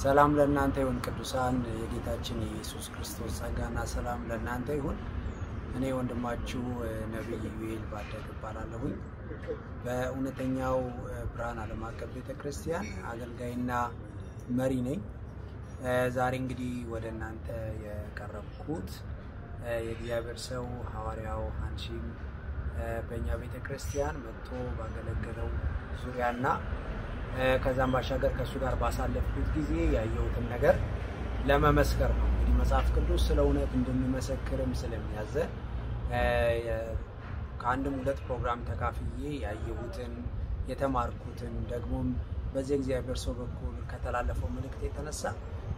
ሰላም ለእናንተ ይሁን ቅዱሳን፣ የጌታችን የኢየሱስ ክርስቶስ ጸጋና ሰላም ለእናንተ ይሁን። እኔ ወንድማችሁ ነቢይ ዩኤል ባደግ እባላለሁኝ። በእውነተኛው ብርሃን ዓለም አቀፍ ቤተ ክርስቲያን አገልጋይና መሪ ነኝ። ዛሬ እንግዲህ ወደ እናንተ የቀረብኩት የእግዚአብሔር ሰው ሐዋርያው ሐንሺም በእኛ ቤተ ክርስቲያን መጥቶ ባገለገለው ዙሪያና ከዛም ባሻገር ከእሱ ጋር ባሳለፍኩት ጊዜ ያየሁትን ነገር ለመመስከር ነው። እንግዲህ መጽሐፍ ቅዱስ ስለ እውነት እንድንመሰክርም ስለሚያዘን ከአንድም ሁለት ፕሮግራም ተካፍዬ ያየሁትን፣ የተማርኩትን፣ ደግሞም በዚህ እግዚአብሔር ሰው በኩል ከተላለፈው መልእክት የተነሳ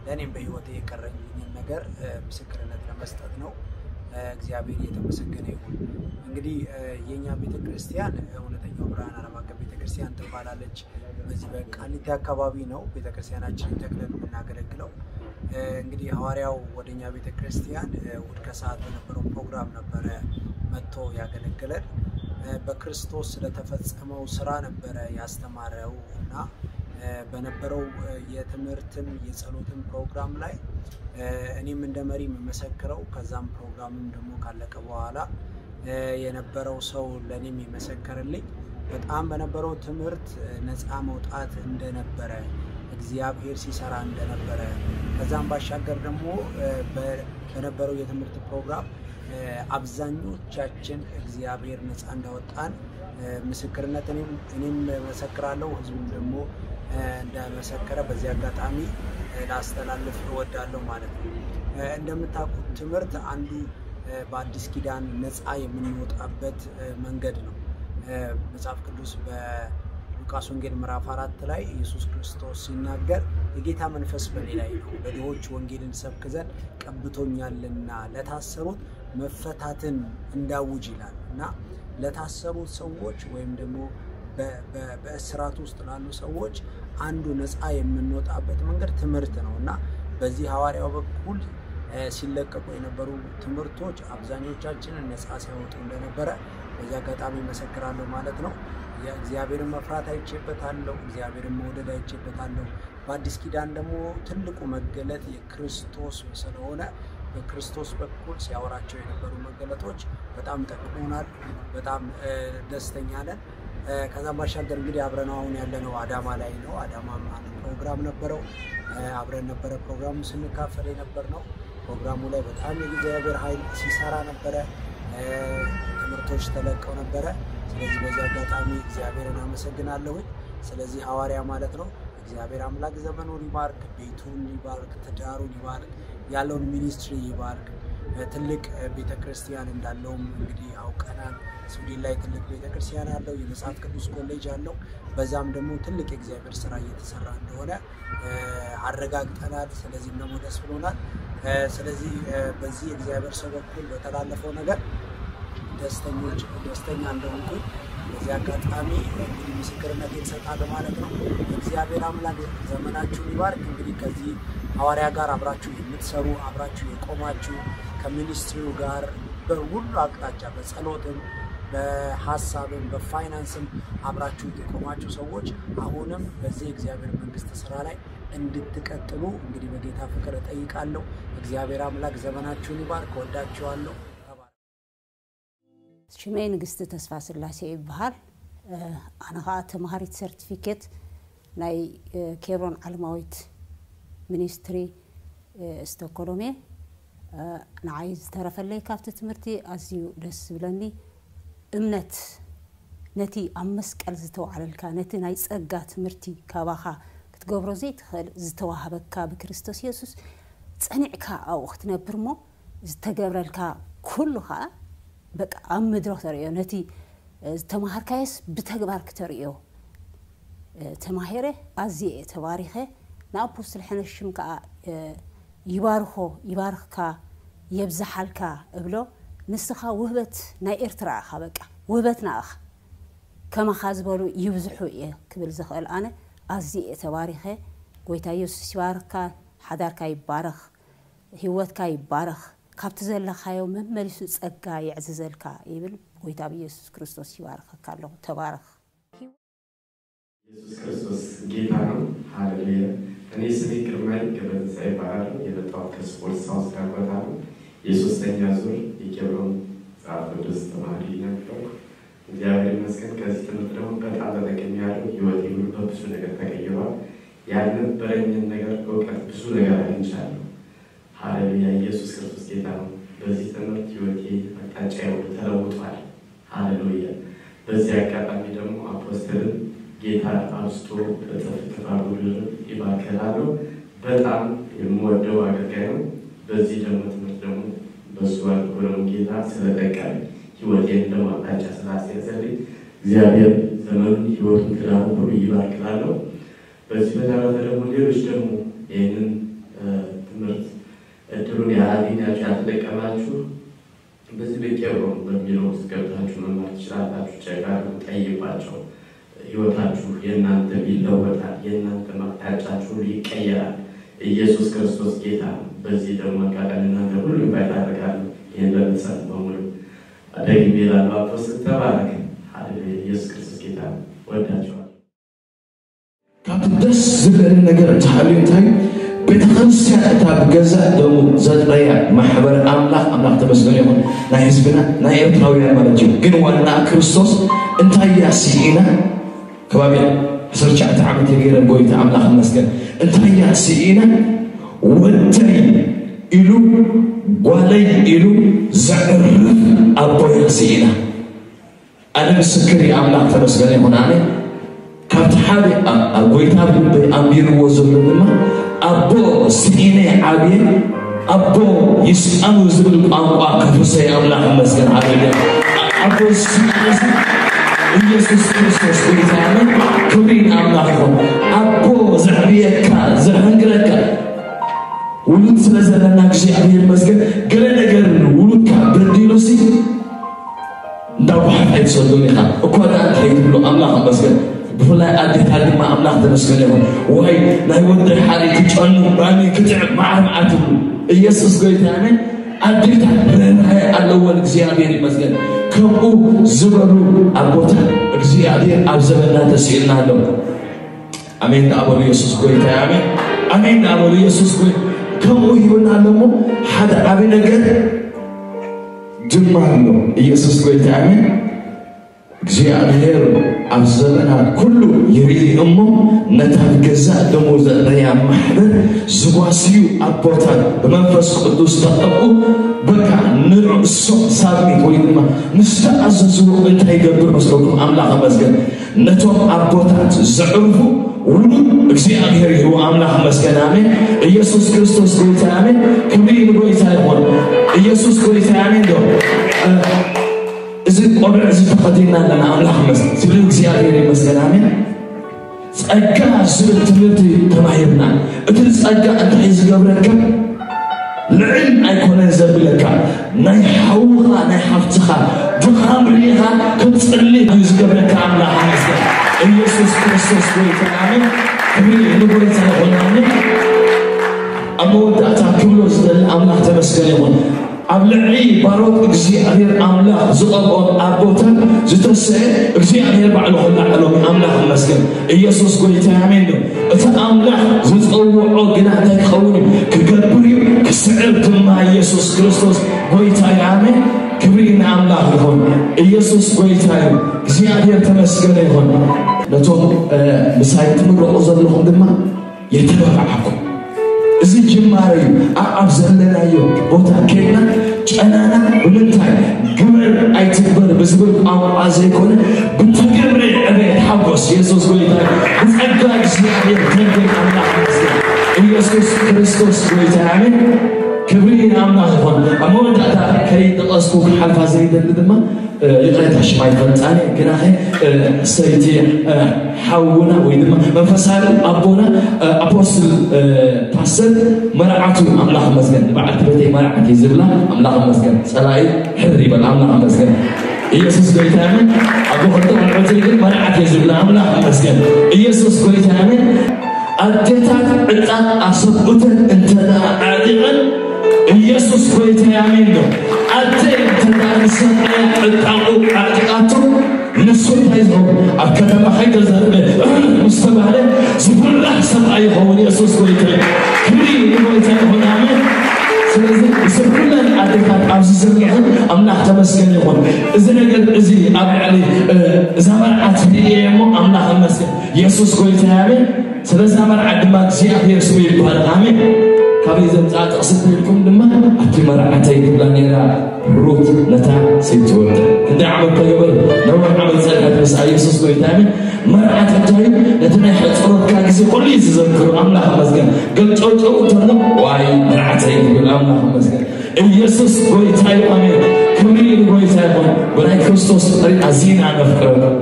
ለእኔም በህይወቴ የቀረኝን ነገር ምስክርነት ለመስጠት ነው። እግዚአብሔር የተመሰገነ ይሁን። እንግዲህ የእኛ ቤተክርስቲያን እውነተኛው ብርሃን ዓለም አቀፍ ቤተክርስቲያን ትባላለች። በዚህ በቃሊቲ አካባቢ ነው ቤተክርስቲያናችንን ተክለን የምናገለግለው። እንግዲህ ሐዋርያው ወደኛ ቤተክርስቲያን እሑድ ከሰዓት በነበረው ፕሮግራም ነበረ መጥቶ ያገለገለን። በክርስቶስ ስለተፈጸመው ስራ ነበረ ያስተማረው እና በነበረው የትምህርትም የጸሎትም ፕሮግራም ላይ እኔም እንደ መሪ የምመሰክረው፣ ከዛም ፕሮግራምም ደግሞ ካለቀ በኋላ የነበረው ሰው ለእኔም የመሰከረልኝ፣ በጣም በነበረው ትምህርት ነፃ መውጣት እንደነበረ፣ እግዚአብሔር ሲሰራ እንደነበረ፣ ከዛም ባሻገር ደግሞ በነበረው የትምህርት ፕሮግራም አብዛኞቻችን እግዚአብሔር ነፃ እንዳወጣን ምስክርነት እኔም እኔም መሰክራለሁ፣ ህዝቡም ደግሞ እንደመሰከረ በዚህ አጋጣሚ ላስተላልፍ እወዳለሁ ማለት ነው። እንደምታውቁት ትምህርት አንዱ በአዲስ ኪዳን ነፃ የምንወጣበት መንገድ ነው። መጽሐፍ ቅዱስ በሉቃስ ወንጌል ምዕራፍ አራት ላይ ኢየሱስ ክርስቶስ ሲናገር፣ «የጌታ መንፈስ በእኔ ላይ ነው፣ ለድሆች ወንጌልን ሰብክ ዘንድ ቀብቶኛልና ለታሰሩት መፈታትን እንዳውጅ» ይላል እና ለታሰሩት ሰዎች ወይም ደግሞ በእስራት ውስጥ ላሉ ሰዎች አንዱ ነፃ የምንወጣበት መንገድ ትምህርት ነው እና በዚህ ሐዋርያው በኩል ሲለቀቁ የነበሩ ትምህርቶች አብዛኞቻችንን ነፃ ሲያወጡ እንደነበረ በዚህ አጋጣሚ መሰክራለሁ ማለት ነው። የእግዚአብሔርን መፍራት አይቼበታለሁ። እግዚአብሔርን መውደድ አይቼበታለሁ። በአዲስ ኪዳን ደግሞ ትልቁ መገለጥ የክርስቶስ ስለሆነ በክርስቶስ በኩል ሲያወራቸው የነበሩ መገለጦች በጣም ጠቅሞናል። በጣም ደስተኛ ነን። ከዛም ባሻገር እንግዲህ አብረን አሁን ያለነው አዳማ ላይ ነው። አዳማም አንድ ፕሮግራም ነበረው። አብረን ነበረ ፕሮግራሙ ስንካፈል የነበር ነው። ፕሮግራሙ ላይ በጣም የእግዚአብሔር ኃይል ሲሰራ ነበረ። ትምህርቶች ተለቀው ነበረ። ስለዚህ በዚህ አጋጣሚ እግዚአብሔርን አመሰግናለሁኝ። ስለዚህ ሐዋርያ ማለት ነው። እግዚአብሔር አምላክ ዘመኑን ይባርክ፣ ቤቱን ይባርክ፣ ትዳሩን ይባርክ፣ ያለውን ሚኒስትሪ ይባርክ። ትልቅ ቤተክርስቲያን እንዳለውም እንግዲህ አውቀናል። ስዊድን ላይ ትልቅ ቤተክርስቲያን አለው፣ የመጽሐፍ ቅዱስ ኮሌጅ አለው። በዛም ደግሞ ትልቅ የእግዚአብሔር ስራ እየተሰራ እንደሆነ አረጋግጠናል። ስለዚህም ደግሞ ደስ ብሎናል። ስለዚህ በዚህ እግዚአብሔር ሰው በኩል በተላለፈው ነገር ደስተኞች ደስተኛ እንደሆንኩኝ በዚህ አጋጣሚ እንግዲህ ምስክርነት እሰጣለሁ ማለት ነው። እግዚአብሔር አምላክ ዘመናችሁን ይባርክ። እንግዲህ ከዚህ ሐዋርያ ጋር አብራችሁ የምትሰሩ፣ አብራችሁ የቆማችሁ፣ ከሚኒስትሪው ጋር በሁሉ አቅጣጫ በጸሎትም በሐሳብም በፋይናንስም አብራችሁ የቆማችሁ ሰዎች አሁንም በዚህ እግዚአብሔር መንግስት ስራ ላይ እንድትቀጥሉ እንግዲህ በጌታ ፍቅር እጠይቃለሁ። እግዚአብሔር አምላክ ዘመናችሁን ይባርክ። ወዳችኋለሁ። ሽመይ ንግስቲ ተስፋ ስላሴ ይበሃል። ኣነ ከዓ ተምሃሪት ሰርቲፊኬት ናይ ኬብሮን ዓለማዊት ሚኒስትሪ ስቶኮሎም እየ። ንዓይ ዝተረፈለይ ካብቲ ትምህርቲ ኣዝዩ ደስ ዝብለኒ እምነት፣ ነቲ ኣብ መስቀል ዝተዋዕለልካ፣ ነቲ ናይ ጸጋ ትምህርቲ ካባኻ ክትገብሮ ዘይትኽእል ዝተዋህበካ ብክርስቶስ የሱስ ጸኒዕካ ኣብኡ ክትነብር እሞ ዝተገብረልካ ኩሉ ከዓ በቃ ኣብ ምድሪ ክተርእዮ፣ ነቲ ዝተማሃርካዮስ ብተግባር ክተርእዮ ተማሂረ ኣዝየ እየ ተባሪኸ። ንኣፖስትል ሕነሽም ከዓ ይባርኾ፣ ይባርኽካ፣ የብዝሓልካ እብሎ። ንስኻ ውህበት ናይ ኤርትራ ኢኻ፣ በቃ ውህበትና ኢኻ። ከማኻ ዝበሉ ይብዝሑ እየ ክብል ዝኽእል ኣነ ኣዝየ እየ ተባሪኸ። ጎይታ ኢየሱስ ይባርካ፣ ሓዳርካ ይባረኽ፣ ህይወትካ ይባረኽ፣ ካብቲ ዘለኻዮ መመሊሱ ጸጋ የዕዝዘልካ ይብል። ጎይታ ብኢየሱስ ክርስቶስ ይባርኸካ ኣለኹ። ተባረኽ። ኢየሱስ ክርስቶስ ጌታ ነው። ሃሌሉያ። እኔ ስሜ ግርማይ ገብረትንሳኤ ይባላል። የመጣሁት ከስፖርት ሳውዝ ዳኮታ ነው። የሶስተኛ ዙር የኬብሮን መጽሐፍ ቅዱስ ተማሪ ነበርኩ። እግዚአብሔር ይመስገን። ከዚህ ትምህርት ደግሞ በጣም ተጠቅሜያለሁ። ህይወቴ ሁሉ በብዙ ነገር ተቀይሯል። ያልነበረኝን ነገር እውቀት ብዙ ነገር አግኝቻለሁ። ሃሌሉያ። ኢየሱስ ክርስቶስ ጌታ ነው። በዚህ ትምህርት ህይወቴ አቅጣጫ ሁሉ ተለውጧል። ሃሌሉያ። በዚህ አጋጣሚ ደግሞ አፖስትልን ጌታ አብዝቶ እጥፍ እጥፍ አድርጎ ድርብ ይባርክ እላለሁ። በጣም የምወደው አገልጋይ ነው። በዚህ ደግሞ ትምህርት ደግሞ በሱ አድርጎ ደግሞ ጌታ ስለጠቀመኝ ህይወቴን ደግሞ አቅጣጫ ስላስያዘልኝ እግዚአብሔር ዘመኑን ህይወቱን ትዳሩን ሁሉ ይባርክ እላለሁ። በዚህ በተረፈ ደግሞ ሌሎች ደግሞ ይህንን ትምህርት እድሉን ያላገኛችሁ ያልተጠቀማችሁ በዚህ በኬብሮን በሚለው ውስጥ ገብታችሁ መማር ትችላላችሁ። ቸክ አድርጉ፣ ጠይቋቸው። ህይወታችሁ የእናንተም ይለወጣል። የእናንተም አቅጣጫችሁ ሁሉ ይቀየራል። ኢየሱስ ክርስቶስ ጌታ ነው። በዚህ ደግሞ አጋጣሚ እናንተ ሁሉ ኢንቫይት አደርጋለሁ። ይህን ለምትሰሙ በሙሉ ደግሜ እላለሁ፣ አፖስትል ተባረክ። ሃሌሉያ። ኢየሱስ ክርስቶስ ጌታ ነው። ወዳችኋለሁ። ካብቲ ደስ ዝብለኒ ነገር እንተሃልዩ እንታይ ቤተ ክርስቲያን እታ ብገዛእ ደሙ ዘጥረያ ማሕበር ኣምላኽ ኣምላኽ ተመስገን ይኹን ናይ ህዝብና ናይ ኤርትራውያን ማለት እዩ። ግን ዋና ክርስቶስ እንታይ እያ ስኢና ከባቢ ዓሰርተ ትሽዓተ ዓመት የገይረ ጎይታ ኣምላኽ ይመስገን። እንታይ እያ ስኢና ወደይ ኢሉ ጓለይ ኢሉ ዘዕርፍ ኣቦያ ስኢና ኣነ ምስክር እየ ኣምላኽ ተመስገነ ይኹን ኣነ ካብቲ ሓደ ኣብ ጎይታ ብልበይ ኣንቢርዎ ዘሎ ድማ ኣቦ ስኢነ ዓብየ ኣቦ ይስኣኑ ዝብል ቋንቋ ከፍሰ ኣምላኽ ይመስገን ሃሌሉያ ኣቦ ስኢነ ኢየሱስ ክርስቶስ ጎይታ ኣነ ክብሪ ንኣምላኽ ይኹን ኣቦ ዘዕብየካ ዘሐንግረካ ውሉድ ስለ ዘለና እግዚኣብሔር ይመስገን ገለ ነገር ውሉድካ በዲሉሲ እንዳ ጓሓፍ ኣይትሰዶን ኢኻ እኳ ደኣ እንታይ ትብሎ ኣምላኽ ይመስገን ብፍላይ ኣዴታት ድማ ኣምላኽ ተመስገን ይኹን ዋይ ናይ ወደይ ሓሪ ክጨኑ ባኒ ክትዕ መዓር መዓር ትብሉ ኢየሱስ ጎይታ ኣሜን ኣዴታት ርህራሄ ኣለወን እግዚኣብሔር ይመስገን ከምኡ ዝበሉ ኣቦታት እግዚኣብሔር ኣብ ዘመንና ተስኢልና ኣሎ ኣሜን ዳኣ በሉ ኢየሱስ ጎይታ ኣሜን ኣሜን ዳኣ በሉ ኢየሱስ ጎይ ከምኡ ይብልና ኣለሞ ሓደ ዓቢ ነገር ድማ ኣሎ ኢየሱስ ጎይታ ኣሜን እግዚኣብሔር ኣብ ዘመናት ኩሉ ይርኢ እሞ ነታ ብገዛእ ደሙ ዘጥረያ ማሕበር ዝጓስዩ ኣቦታት ብመንፈስ ቅዱስ ተቐብኡ በቃ ንርእሶም ሳብሚት ወይ ድማ ምስ ተኣዘዝዎ እንታይ ይገብር መስለኩም ኣምላኽ መስገን ነቶም ኣቦታት ዘዕርፉ ውሉድ እግዚኣብሔር ይህቡ ኣምላኽ መስገን ኣሜን ኢየሱስ ክርስቶስ ጎይታ ኣሜን ክብሪ ንጎይታ ይኾን ኢየሱስ ጎይታ ኣሜን ዶ እዚ ቆብዕ እዚ ተኸዲና ኣለና ኣምላኽ መስገን ስለ እግዚኣብሔር ይመስገን ኣሜን ጸጋ ዝብል ትምህርቲ ተማሂርና እቲ ጸጋ እንታይ ዝገብረካ ልዕል ኣይኮነን ዘብለካ ናይ ሓውኻ ናይ ሓፍትኻ ድኻም ርኢኻ ክትጽሊ እዩ ዝገብረካ ኣምላኽ ይመስገን ኢየሱስ ክርስቶስ ጎይታ ኣሜን ክብሪ ንጎይታ ይኹን ኣሜን ኣብ መወዳእታ ክብሎ ዝደሊ ኣምላኽ ተመስገን ይኹን ኣብ ልዕሊ ባሮት እግዚኣብሔር ኣምላኽ ዝቐብኦም ኣቦታት ዝተሰአ እግዚኣብሔር ባዕሉ ክላዓሎም ኣምላኽ ይመስገን ኢየሱስ ጎይታ ኣሜን ዶ እቲ ኣምላኽ ዝጸውዖ ግና እንታይ ክኸውን እዩ ክገብር እዩ ክስዕር ድማ ኢየሱስ ክርስቶስ ጎይታ እዩ ኣሜን ክብሪ ንኣምላኽ ይኹን ኢየሱስ ጎይታ እዩ እግዚኣብሔር ተመስገነ ይኹን ነቶም ምሳይ ትምረቑ ዘለኹም ድማ የተባባዓኩም እዚ ጅማረ እዩ ኣብ ዘለናዮ ቦታ ኬድና ጨናና ብምንታይ ግበር ኣይትግበር ብዝብል ቋንቋ ዘይኮነ ብተገብረ ዕቤት ሓጎስ የሱስ ጎይታ ብጸጋ እግዚኣብሔር ተንግር ኣምላኽ መስገን ኢየሱስ ክርስቶስ ጎይታ ኣሜን ክብሪ ንኣምላኽ ይኾን ኣብ መወዳእታ ከይጠቐስኩ ክሓልፋ ዘይደሊ ድማ ይቕሬታ ሽማ ይፈልጣኒ ግናኸ ሰይቲ ሓውና ወይ ድማ መንፈሳዊ ኣቦና ኣፖስትል ፓስተር መርዓቱ ኣምላኽ መስገን ንበዓልቲ ቤተይ መርዓት እዩ ዝብላ ኣምላኽ መስገን ጸላኢ ሕር ይበል ኣምላኽ መስገን ኢየሱስ ጎይታ ኣሜን ኣቦ ክልተ ቆልዑት ግን ኢየሱስ ጎይታ ኣሜን። ኣዴታት ዕጣን ኣሰብኡተን እንተ ኣዕጢቐን ኢየሱስ ጎይታ ኣሜን ነው። ኣደ እንተ ንሰብኣያ ዕጣቑ ኣዕጢቓቶ ንሱ እንታይ ዝኸውን ኣብ ከተማ ሓይገ ዘርበ ምስ ተባህለ ዝፍራሕ ሰብኣይ ይኸውን። ኢየሱስ ጎይታ ክብሪ ንጎይታ ይኹን። ኣሜን። ስለዚ ስብ ኩለን ኣዴታት ኣብዚ ዝርግሐን ኣምላኽ ተመስገን ይኹን። እዚ ነገር እዚ ኣብ ልዕሊ እዛ መርዓት ርእየ እሞ ኣምላኽ ይመስገን። ኢየሱስ ጎይታ ኣሜን። ስለዛ መርዓት ድማ እግዚኣብሔር ስሙ ይባረክ። ኣሜን። ካበይ ዘምፅኣ ጥቕሲ ትብልኩም ድማ ኣብቲ መርዓተይ ትብላ ነይራ ሩት ነታ ሰይቲ ወዳ። ክንደይ ዓመት ተገበረ? ነዊሕ ዓመት ጸንሐት ምስኣ። ኢየሱስ ጎይታ ኣሜን። መርዓት እንታይ እዩ? ነቲ ናይ ሕጽኖትካ ግዜ ኩሉ እዩ ዝዘክሩ። ኣምላኽ ይመስገን። ገልጨውጨው እንተሎ ዋይ መርዓተይ ይብል። ኣምላኽ ይመስገን። ኢየሱስ ጎይታ እዩ። ኣሜን። ክብሪ ንጎይታ ይኹን። ብናይ ክርስቶስ ፍቕሪ ኣዚና ነፍቅረኩም።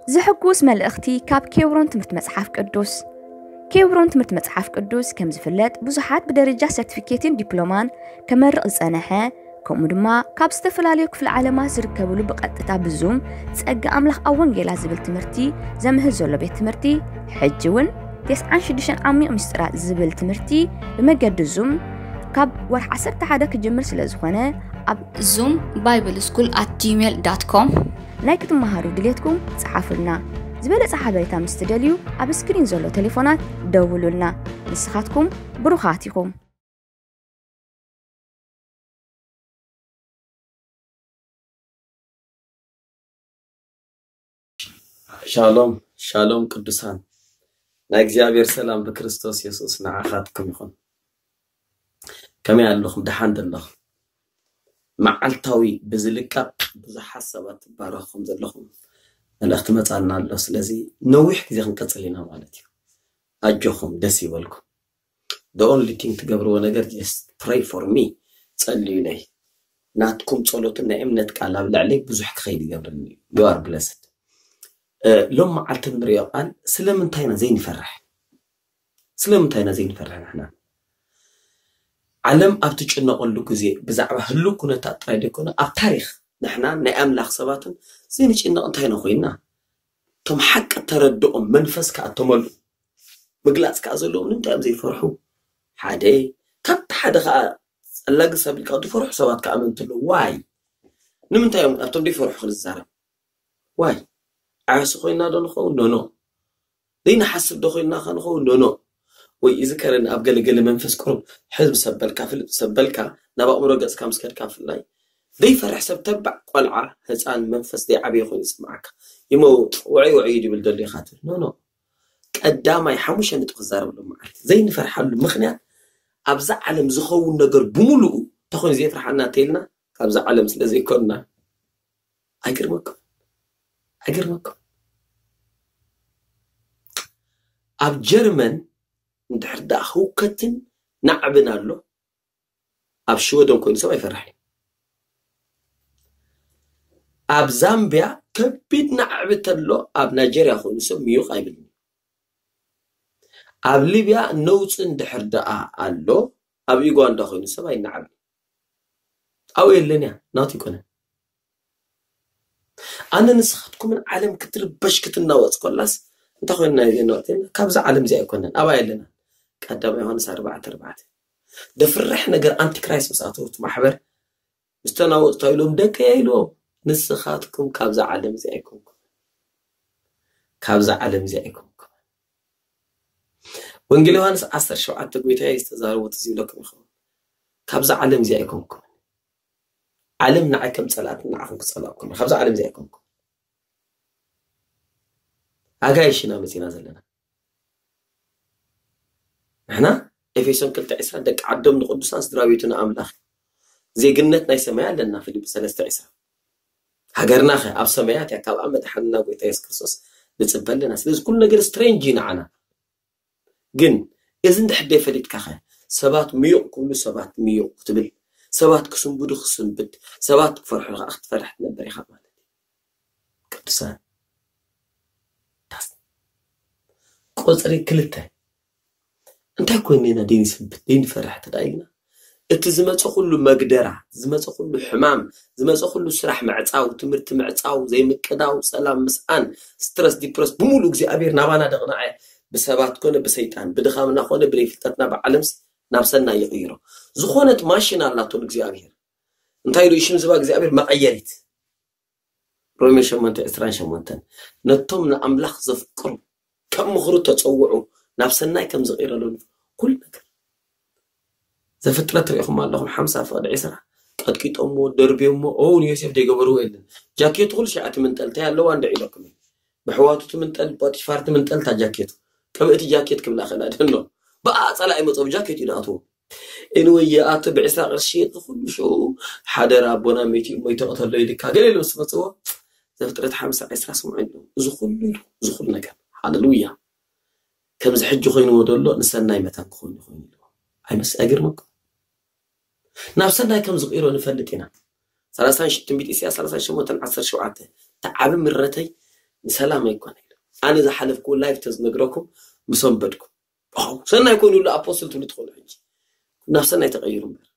ዘሐጉስ መልእኽቲ ካብ ኬብሮን ትምህርቲ መጽሓፍ ቅዱስ። ኬብሮን ትምህርቲ መጽሓፍ ቅዱስ ከም ዝፍለጥ ብዙሓት ብደረጃ ሰርቲፊኬትን ዲፕሎማን ከመርቕ ዝጸነሐ፣ ከምኡ ድማ ካብ ዝተፈላለዩ ክፍለ ዓለማት ዝርከብሉ ብቐጥታ ብዙም ጸጋ ኣምላኽ ኣብ ወንጌላ ዝብል ትምህርቲ ዘምህር ዘሎ ቤት ትምህርቲ፣ ሕጂ እውን ተስዓን ሽዱሽተን ዓሚቕ ምስጢራት ዝብል ትምህርቲ ብመገዲ ዙም ካብ ወርሒ ዓሰርተ ሓደ ክጅምር ስለ ዝኾነ ኣብ ዙም ባይብል ስኩል ኣት ጂሜል ዳት ኮም ናይ ክትመሃሩ ድሌትኩም ጸሓፉልና። ዝበለጸ ሓበሬታ ምስ ትደልዩ ኣብ ስክሪን ዘሎ ቴሌፎናት ደውሉልና። ንስኻትኩም ብሩኻት ኢኹም። ሻሎም ሻሎም ቅዱሳን፣ ናይ እግዚኣብሔር ሰላም ብክርስቶስ የሱስ ንዓኻትኩም ይኹን። ከመይ ኣለኹም? ደሓን ዶ ኣለኹም? መዓልታዊ ብዝልቀቕ ብዙሓት ሰባት ትባረኹም ዘለኹም መልእኽቲ መጻና ኣሎ። ስለዚ ነዊሕ ግዜ ክንቀጽል ኢና ማለት እዩ። ኣጆኹም፣ ደስ ይበልኩም። The only thing ትገብርዎ ነገር just pray for me፣ ጸልዩለይ። ናትኩም ጸሎትን ናይ እምነት ቃል ኣብ ልዕለይ ብዙሕ ክኸይድ ይገብርኒ እዩ። You are blessed። ሎም መዓልቲ ንሪኦ ቃል ስለምንታይ ኢና ዘይንፈርሕ? ስለምንታይ ኢና ዘይንፈርሕ ንሕና? ዓለም ኣብ ትጭነቐሉ ግዜ ብዛዕባ ህሉው ኩነታት ጥራይ ዘይኮነ ኣብ ታሪኽ ንሕና ናይ ኣምላኽ ሰባትን ዘይንጭነቕ እንታይ ኢና ኮይንና? እቶም ሓቂ ተረድኦም መንፈስ ከኣ ተመልኡ ምግላጽ ከኣ ዘለዎም ንምንታይ እዮም ዘይፈርሑ? ሓደ ካብቲ ሓደ ከኣ ጸላግስ ኣቢልካ ዝፈርሑ ሰባት ከኣ ኣመንቲ ኣለዉ። ዋይ ንምንታይ እዮም ኣብቶም ዘይፈርሑ ክንዛረብ? ዋይ ዓያሱ ኮይና ዶ ንኸውን? ኖኖ ዘይንሓስብ ዶ ኮይንና ከ ንኸውን? ኖኖ ወይ እዚ ከረን ኣብ ገለገለ መንፈስ ቁሩብ ሕዝብ ሰበልካ ፍልጥ ሰበልካ ናብ ኣእምሮ ገጽካ ምስ ከድካ ብፍላይ ዘይፈርሕ ሰብ ተባዕ ቆልዓ ህፃን መንፈስ ዘይዓበየ ኮይኑ ይስምዓካ። ይመውጥ ውዕይ ውዕይ ድብል ደሎ ኢኻ ትብል። ኖ ኖ ቀዳማይ ሓሙሽተ ነጥቢ ክዛረበሎም መዓልቲ ዘይንፈርሓሉ ምኽንያት ኣብዛ ዓለም ዝኸውን ነገር ብምሉኡ እንተኾይኑ ዘየፍርሓና እንተይልና ካብዛ ዓለም ስለ ዘይኮንና። ኣይገርመኩም? ኣይገርመኩም? ኣብ ጀርመን እንድሕር ደኣ ህውከትን ናዕብን ኣሎ ኣብ ሽወደን ኮይኑ ሰብ ኣይፈርሕን። ኣብ ዛምቢያ ከቢድ ናዕቢ ተሎ ኣብ ናይጀርያ ኮይኑ ሰብ ምዩቕ ኣይብልን። ኣብ ሊብያ ነውፂ እንድሕር ደኣ ኣሎ ኣብ ዩጋንዳ ኮይኑ ሰብ ኣይናዕብን። ኣብኡ የለን እያ ናቱ ይኮነ። ኣነ ንስኻትኩምን ዓለም ክትርበሽ ክትናወፅ ኮላስ እንታይ ኮይንና ኢና ወፅና? ካብዛ ዓለም እዚኣ ኣይኮነን። ኣብኣ የለና። ቀዳማይ ዮሃንስ ኣርባዕተ ኣርባዕተ። ደፍርሕ ነገር ኣንቲክራይስት ምስ ኣተወት ማሕበር ምስ ተናወፅታ ኢሎም ደቀያ ኢልዎም ንስኻትኩም ካብዛ ዓለም እዚኣ ኣይኮንኩም። ካብዛ ዓለም እዚኣ ኣይኮንኩም። ወንጌል ዮሃንስ ዓሰርተ ሸውዓተ ጎይታ ዝተዛረቦ ትዝ ይብለኩም ይኸውን። ካብዛ ዓለም እዚኣ ኣይኮንኩም። ዓለም ንዓይ ከም ፀላእትን ንዓኹም ክፀላእኩም እያ። ካብዛ ዓለም እዚኣ ኣይኮንኩም። ኣጋይሽ ኢና መፂና ዘለና። ንሕና ኤፌሶን ክልተ ዕስራ ደቂ ዓዶም ንቅዱሳን ስድራ ቤቱ ንኣምላኽ ዜግነት ናይ ሰማይ ኣለና። ፊልጲ ሰለስተ ዕስራ ሃገርና ኸ ኣብ ሰማያት እያ። ካብኣ መድሓንና ጎይታ የሱስ ክርስቶስ ንፅበ ኣለና። ስለዚ ኩሉ ነገር ስትሬንጅ እዩ ንዓና። ግን እዚ እንድሕር ደይፈሊጥካ ኸ ሰባት ምዩቕ ክብሉ ሰባት ምዩቕ ክትብል፣ ሰባት ክስንብዱ ክስንብድ፣ ሰባት ክፈርሑ ከዓ ክትፈርሕ ትነበር ኢኻ ማለት እዩ። ቅዱሳን ቁፅሪ ክልተ እንታይ ኮይንና ደይንስንብድ ደይንፈርሕ ተዳ ኢልና እቲ ዝመፀ ኩሉ መግደራ፣ ዝመፀ ኩሉ ሕማም፣ ዝመፀ ኩሉ ስራሕ ምዕፃው፣ ትምህርቲ ምዕፃው፣ ዘይምቅዳው፣ ሰላም ምስኣን፣ ስትረስ፣ ዲፕረስ፣ ብምሉእ እግዚኣብሔር ናባና ደቕናዐ። ብሰባት ኮነ ብሰይጣን፣ ብድኻምና ኮነ ብደይ ፍልጠትና ብዓለምስ ናብ ሰናይ ይቕይሮ። ዝኾነት ማሽን ኣላቶ እግዚኣብሔር። እንታይ ኢሉ ሽም ዝባ እግዚኣብሔር? መቐየሪት። ሮሜ ሸሞንተ ዕስራን ሸሞንተን፣ ነቶም ንኣምላኽ ዘፍቅሩ ከም ምኽሩ ተጸውዑ፣ ናብ ሰናይ ከም ዝቕይረሉ ኩሉ ነገር። ዘፍጥረት ርኢኹም ኣለኹም ሓምሳ ፍቕዲ ዕስራ። ቀጥቂጦሞ፣ ደርብዮሞ። ኦ ንዮሴፍ ደይገበርዎ የለን። ጃኬቱ ኩሉ ሸዓ ትምንጠል እንታይ ኣለዋ እንደ ኢለኩም እዩ። ብሕዋቱ ትምንጠል፣ ፖቲፋር ትምንጠል እታ ጃኬቱ። ቅብእቲ ጃኬት ክብላ ክእላ ደኖ። ብኣ ጸላኢ መጾ ብጃኬት እዩ ንኣትዎ። ኤንወይ ኣቶ ብዕስራ ቅርሺ እዚ ኩሉ ሽዑ ሓደራ ኣቦና ሜቲ እሞ ይተቕተሎ ኢልካ ገለ ኢሉ ምስ መጽዎ። ዘፍጥረት ሓምሳ ዕስራ ስምዑ ኢሉ። እዚ ኩሉ ኢሉ፣ እዚ ኩሉ ነገር። ሃሌሉያ። ከምዚ ሕጂ ኮይንዎ ዘሎ ንሰናይ መታን ክኾን ይኾን ኢሉ። ኣይመስ-፣ ኣይገርመኩም? ናብ ሰናይ ከም ዝቕይሮ ንፈልጥ ኢና። ሰላሳ ትንቢት ኢሳያስ ሰላሳ ሸሞንተ ዓሰርተ ሸውዓተ፣ "እቲ ዓቢ ምረተይ ንሰላም ኣይኮነ" ኢሉ። ኣነ ዝሓለፍኩ ላይፍ ተዝነግረኩም ምሰንበድኩም። ዋው፣ ሰናይ ኮይኑ ኣሎ ኣፖስትል ትብሉ ትኽእሉ ሕጂ። ናብ ሰናይ ተቐይሩ እምበር።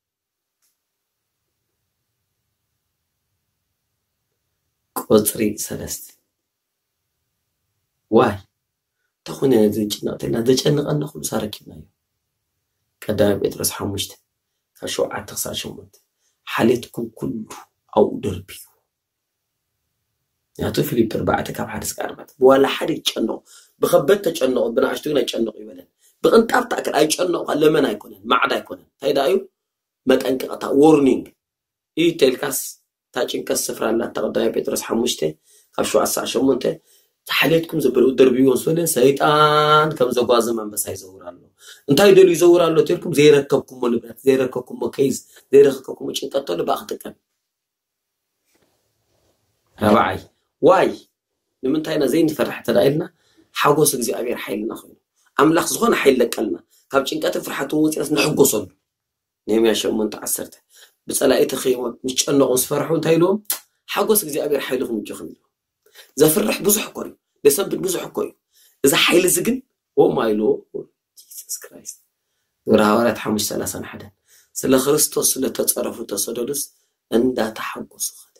ቁጽሪ ሰለስተ። ዋይ፣ እንታይ ኮይነ ነዚ ዝጭነቕ ተልና ዘጨንቐና ኩሉ ሳረኪብናዮ። ቀዳማይ ጴጥሮስ ሓሙሽተ ካብ ሸውዓተ ክሳብ ሸሞንተ፣ "ሓሌትኩም ኩሉ ኣብኡ ደርብዩ." ያቱ ፊልፕ ኣርባዕተ ካብ ሓደ እስከ ኣርባዕተ። ብዋላ ሓደ ይጨነቑ፣ ብኸበድ ተጨነቑ፣ ብንኣሽቱ ግን ኣይጨነቑ ይበለን። ብቕንጣብ ታእክል ኣይጨነቑ፣ ለመን ኣይኮነን፣ ማዕዳ ኣይኮነን። እንታይ ደኣ እዩ? መጠንቀቕታ፣ ዎርኒንግ። እዩ ተልካስ፣ እታ ጭንቀት ስፍራ ኣላታ። ቀዳማይ ጴጥሮስ ሓሙሽተ ካብ ሸውዓተ ክሳብ ሸሞንተ፣ "ሓሌትኩም ዘበለ ደርብይዎ" ምስ በለ፣ ሰይጣን ከም ዘጓዘ መንበሳ ይዘውር ኣሎ። እንታይ ደልዩ ይዘውር ኣሎ ተልኩም? ዘይረከብኩሞ ንብረት፣ ዘይረከብኩሞ ኬዝ፣ ዘይረከብኩሞ ጭንቀት ተሎ ብኣ ክጥቀም። ራብዓይ፣ ዋይ፣ ንምንታይ ኢና ዘይንፈርሕ እንተ ደኣ ኢልና፣ ሓጎስ እግዚኣብሔር ሓይልና ኮይኑ። ኣምላኽ ዝኾነ ሓይሊ ለቀልና፣ ካብ ጭንቀትን ፍርሓትን ወፂናስ ንሕጎሰሉ። ነህምያ ሸሞንተ ዓሰርተ፣ ብጸላኢ ተኸይቦም ምስ ጨነቑ ምስ ፈርሑ እንታይ ኢልዎም? "ሓጎስ እግዚኣብሔር ሓይልኹም እጆኹም" ኢልዎም። ዘፍርሕ ብዙሕ እኮ እዩ፣ ዘሰንብድ ብዙሕ እኮ እዩ። እዚ ሓይሊ እዚ ግን፣ ኦ ማይ ሎርድ ጂሰስ ክራይስት። ግብረ ሃዋርያት ሓሙሽተ ሰላሳን ሓደን፣ "ስለ ክርስቶስ ስለ ተጸረፉ ተሰደዱስ እንዳተሓጎሱ ኸደ."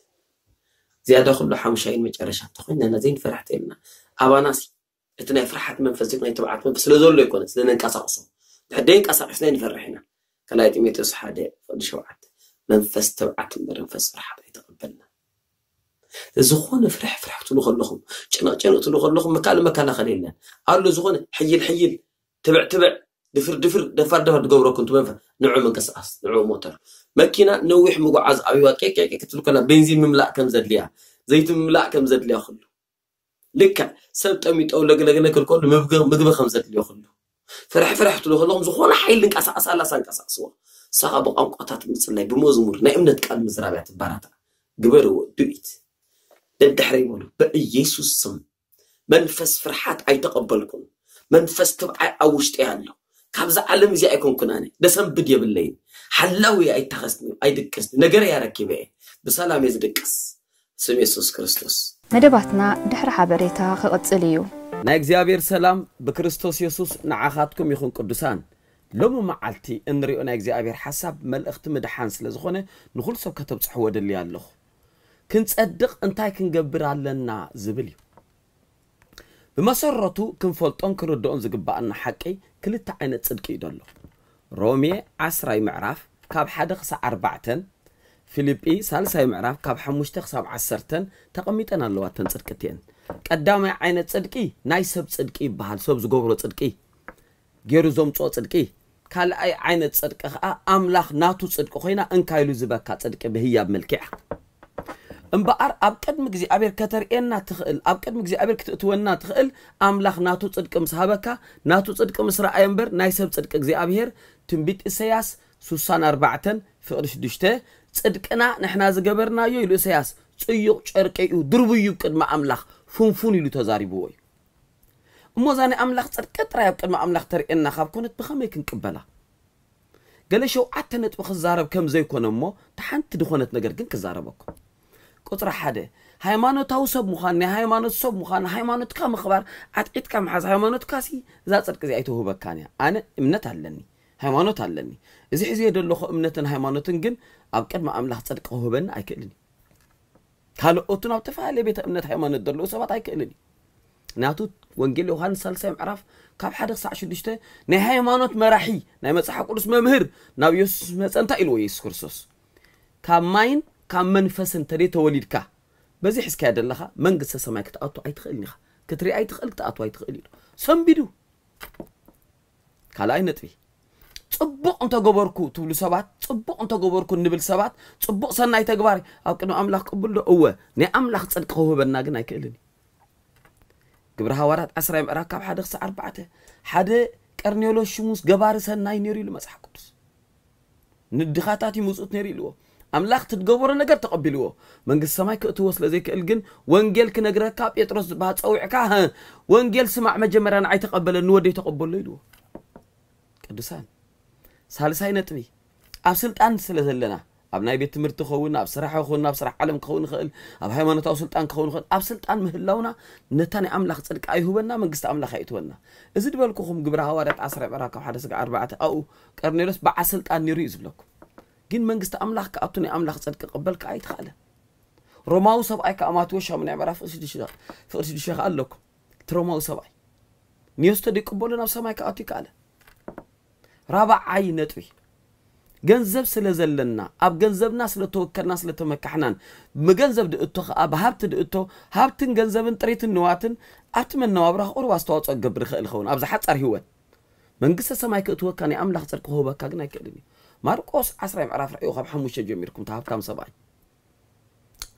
ዝያዳ ኩሉ ሓሙሻይን መጨረሻ እንተኾይንና ዘይንፈርሕ ተይልና፣ ኣባናስ እቲ ናይ ፍርሓት መንፈስ፣ እዚ ናይ ትብዓት መንፈስ ስለ ዘሎ ኣይኮነ፣ ስለ ነንቀሳቕሶ። ድሕር ደይንቀሳቐስና ንፈርሕ ኢና። ካልኣይ ጢሞቴዎስ ሓደ ፍቕዲ ሸውዓተ፣ "መንፈስ ትብዓት እምበር መንፈስ ፍርሓት ኣይተቐበልና." ዝኾነ ፍርሕ ፍርሕ ትብሉ ከለኹም፣ ጭንቕ ጭንቕ ትብሉ ከለኹም፣ መካል መከላኸሊ የለን። ኣሎ ዝኾነ ሕይል ሕይል፣ ትብዕ ትብዕ፣ ድፍር ድፍር፣ ደፋር ደፋር ትገብረኩም እቲ መንፈስ፣ ንዑ ምንቅስቓስ፣ ንዑ ሞተር። መኪና ነዊሕ ምጉዓዝ ኣብይዋ ቄቅ ቄቅ ክትብል ከላ፣ ቤንዚን ምምላእ ከም ዘድልያ፣ ዘይቲ ምምላእ ከም ዘድልያ ኩሉ። ልክዕ ሰብ ጠሚጠው ለግለግለግ ከሎ ምግቢ፣ ምግቢ ከም ዘድልዮ ኩሉ። ፍርሕ ፍርሕ ትብሉ ከለኹም ዝኾነ ሓይሊ እንቀሳቐሳ ኣላስ ኣንቀሳቕስዎ። ንስኻ ብቋንቋታት ምጽላይ፣ ብመዝሙር፣ ናይ እምነት ቃል ምዝራብ እያ ትበራታዕ። ግበርዎ፣ do it። ደድሕረይ በሉ፣ "በኢየሱስ ስም መንፈስ ፍርሓት ኣይተቐበልኩን። መንፈስ ትብዓይ ኣብ ውሽጠይ ኣሎ። ካብዛ ዓለም እዚኣ ኣይኮንኩን ኣነ። ደሰንብድ የብለይን። ሓላዊ ኣይታኸስኒ፣ ኣይድቅስኒ። ነገረይ ኣረኪበ እየ። ብሰላም እየ ዝድቅስ። ስም የሱስ ክርስቶስ።" መደባትና ድሕሪ ሓበሬታ ክቕጽል እዩ። ናይ እግዚኣብሔር ሰላም ብክርስቶስ የሱስ ንዓኻትኩም ይኹን ቅዱሳን። ሎሚ መዓልቲ እንሪኦ ናይ እግዚኣብሔር ሓሳብ መልእኽቲ ምድሓን ስለ ዝኾነ ንኹሉ ሰብ ከተብጽሕዎ ደልየ ኣለኹ። ክንጸድቕ እንታይ ክንገብር ኣለና ዝብል እዩ። ብመሰረቱ ክንፈልጦን ክንርድኦን ዝግባኣና ሓቂ ክልተ ዓይነት ጽድቂ እዩ ዘሎ። ሮሜ ዓስራይ ምዕራፍ ካብ ሓደ ክሳብ ኣርባዕተን፣ ፊልጲ ሳልሳይ ምዕራፍ ካብ ሓሙሽተ ክሳብ ዓሰርተን ተቐሚጠን ኣለዋ እተን ጽድቂ እቲአን። ቀዳማይ ዓይነት ጽድቂ ናይ ሰብ ጽድቂ ይበሃል፣ ሰብ ዝገብሮ ጽድቂ፣ ገይሩ ዘምጽኦ ጽድቂ። ካልኣይ ዓይነት ጽድቂ ኸኣ ኣምላኽ ናቱ ጽድቂ ኮይና እንካ ኢሉ ዝበካ ጽድቂ ብህያብ መልክዕ። እምበኣር ኣብ ቅድሚ እግዚኣብሔር ከተርእየና ትኽእል፣ ኣብ ቅድሚ እግዚኣብሔር ክትእትወና ትኽእል ኣምላኽ ናቱ ጽድቂ ምስ ሃበካ፣ ናቱ ጽድቂ ምስ ረኣየ እምበር ናይ ሰብ ጽድቂ እግዚኣብሔር ትንቢት ኢሳያስ ስሳን ኣርባዕተን ፍቕዲ ሽዱሽተ፣ "ጽድቅና ንሕና ዝገበርናዮ" ኢሉ ኢሳያስ፣ "ጽዩቕ ጨርቂ እዩ፣ ድርቡይ እዩ ቅድሚ ኣምላኽ፣ ፍንፉን" ኢሉ ተዛሪብዎ እዩ። እሞ እዛ ናይ ኣምላኽ ጽድቂ ጥራይ ኣብ ቅድሚ ኣምላኽ ተርእየና ካብ ኮነት ብኸመይ ክንቅበላ? ገለ ሸውዓተ ነጥቢ ክዛረብ ከም ዘይኮነ እሞ፣ እታ ሓንቲ ዝኾነት ነገር ግን ክዛረበኩም። ቁጽሪ ሓደ፣ ሃይማኖታዊ ሰብ ምዃን፣ ናይ ሃይማኖት ሰብ ምዃን፣ ሃይማኖትካ ምኽባር፣ ዓጥዒጥካ ምሓዝ ሃይማኖትካሲ፣ እዛ ጽድቂ እዚኣ ኣይተውህበካን እያ። ኣነ እምነት ኣለኒ። ሃይማኖት ኣለኒ። እዚ ሒዘዮ ዘለኹ እምነትን ሃይማኖትን ግን ኣብ ቅድሚ ኣምላኽ ጽድቂ ክህበኒ ኣይክእልን እዩ። ካልኦቱን ኣብ ተፈላለየ ቤተ እምነት ሃይማኖት ዘለዉ ሰባት ኣይክእልን እዩ። ናቱ ወንጌል ዮሃንስ ሳልሳይ ምዕራፍ ካብ ሓደ ክሳዕ ሽዱሽተ ናይ ሃይማኖት መራሒ ናይ መጽሓፍ ቅዱስ መምህር ናብ ኢየሱስ መጸ እንታይ ኢልዎ ኢየሱስ ክርስቶስ? ካብ ማይን ካብ መንፈስን ተደይ ተወሊድካ በዚ ሒዝካዮ ዘለኻ መንግስተ ሰማይ ክትኣቱ ኣይትኽእልን ኢኻ። ክትርኢ ኣይትኽእል ክትኣቱ ኣይትኽእል ኢሉ ሰንቢዱ። ካልኣይ ነጥቢ ጽቡቕ እንተገበርኩ ትብሉ ሰባት ጽቡቕ እንተገበርኩ እንብል ሰባት ጽቡቕ ሰናይ ተግባር ኣብ ቅድሚ ኣምላኽ ቅቡል ዶ? እወ ናይ ኣምላኽ ጽድቂ ክውህበና ግን ኣይክእልን እዩ። ግብሪ ሃዋርያት ዓስራይ ምዕራፍ ካብ ሓደ ክሳዕ ኣርባዕተ ሓደ ቀርኔሎስ ሽሙስ ገባሪ ሰናይ ነይሩ ኢሉ መጽሓፍ ቅዱስ። ንድኻታት ይምጽኡት ነይሩ ኢልዎ። ኣምላኽ ትገበሮ ነገር ተቐቢልዎ መንግስቲ ሰማይ ክእትዎ ስለ ዘይክእል ግን ወንጌል ክነግረካ ጴጥሮስ ዝበሃል ጸዊዕካ "ሀ፣ ወንጌል ስማዕ መጀመርያ ንዓይ ተቐበለኒ ወደይ ተቐበሎ" ኢልዎ። ቅዱሳን ሳልሳይ ነጥቢ ኣብ ስልጣን ስለ ዘለና ኣብ ናይ ቤት ትምህርቲ ክኸውን ኣብ ስራሕ ክኸውን ኣብ ስራሕ ዓለም ክኸውን ይኽእል ኣብ ሃይማኖታዊ ስልጣን ክኸውን ይኽእል ኣብ ስልጣን ምህላውና ነታ ናይ ኣምላኽ ጽድቂ ኣይሁበና መንግስቲ ኣምላኽ ኣይእትወና። እዚ ዝበልኩኹም ግብረ ሃዋርያት ዓስራ ዕራፍ ካብ ሓደ ስጋ ኣርባዕተ ኣብኡ ቀርኔሎስ በዓል ስልጣን ነይሩ እዩ ዝብለኩም። ግን መንግስቲ ኣምላኽ ክኣቱ ናይ ኣምላኽ ጽድቂ ክቕበል ከኣ ኣይተኻእለን። ሮማዊ ሰብኣይ ከኣ ማቴዎስ ሻሙናይ ምዕራፍ ፍቕዲ ሽዱሽተ ከኣ ኣለኩም። እቲ ሮማዊ ሰብኣይ ንዮስቶ ደይቅበሉ ናብ ሰማይ ክኣቱ ይከኣለ። ራብዓይ ነጥቢ ገንዘብ ስለ ዘለና ኣብ ገንዘብና ስለ ተወከልና ስለ ተመካሕናን ብገንዘብ ድእቶ ከኣ ብሃብቲ ድእቶ ሃብትን ገንዘብን ጥሪትን ንዋትን ኣብቲ መነባብራ ቁሩብ ኣስተዋፅኦ ክገብር ይኽእል ይኸውን ኣብዚ ሓፃር ህይወት መንግስተ ሰማይ ክእትወካ ናይ ኣምላኽ ጽድቂ ክህበካ ግን ኣይክእልን እዩ። ማርቆስ ዓስራይ ምዕራፍ ርኣዩ ካብ ሓሙሽተ ጀሚርኩም እቲ ሃብታም ሰብኣይ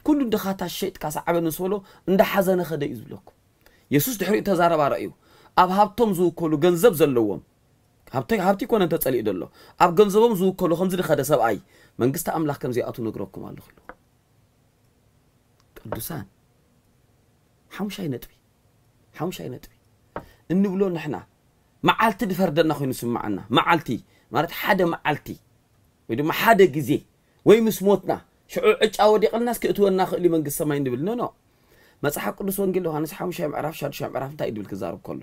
ኩሉ ድኻታት ሸይጥካ ሰዓበኒ ምስ በሎ እንዳሓዘነ ኸደ እዩ ዝብለኩም። የሱስ ድሕሪኡ ተዛረባ ረእዩ ኣብ ሃብቶም ዝውከሉ ገንዘብ ዘለዎም ሃብቲ ኮነ እንተጸሊኡ ዘሎ ኣብ ገንዘቦም ዝውከሉ ከምዚ ድኸደ ሰብኣይ መንግስቲ ኣምላኽ ከም ዘይኣቱ ነግረኩም ኣለኹ ኢሉ። ቅዱሳን ሓሙሻይ ነጥቢ ሓሙሻይ ነጥቢ እንብሎ ንሕና መዓልቲ ድፈርደና ኮይኑ ስምዓና መዓልቲ ማለት ሓደ መዓልቲ ወይ ድማ ሓደ ግዜ ወይ ምስ ሞትና ሽዑ ዕጫ ወዲቕልናስ ክእትወና ክእል እዩ መንግስቲ ሰማይ እንብል ኖ ኖ። መጽሓፍ ቅዱስ ወንጌል ዮሃንስ ሓሙሻይ ምዕራፍ ሻዱሻይ ምዕራፍ እንታይ ድብል ክዛረብ ከሎ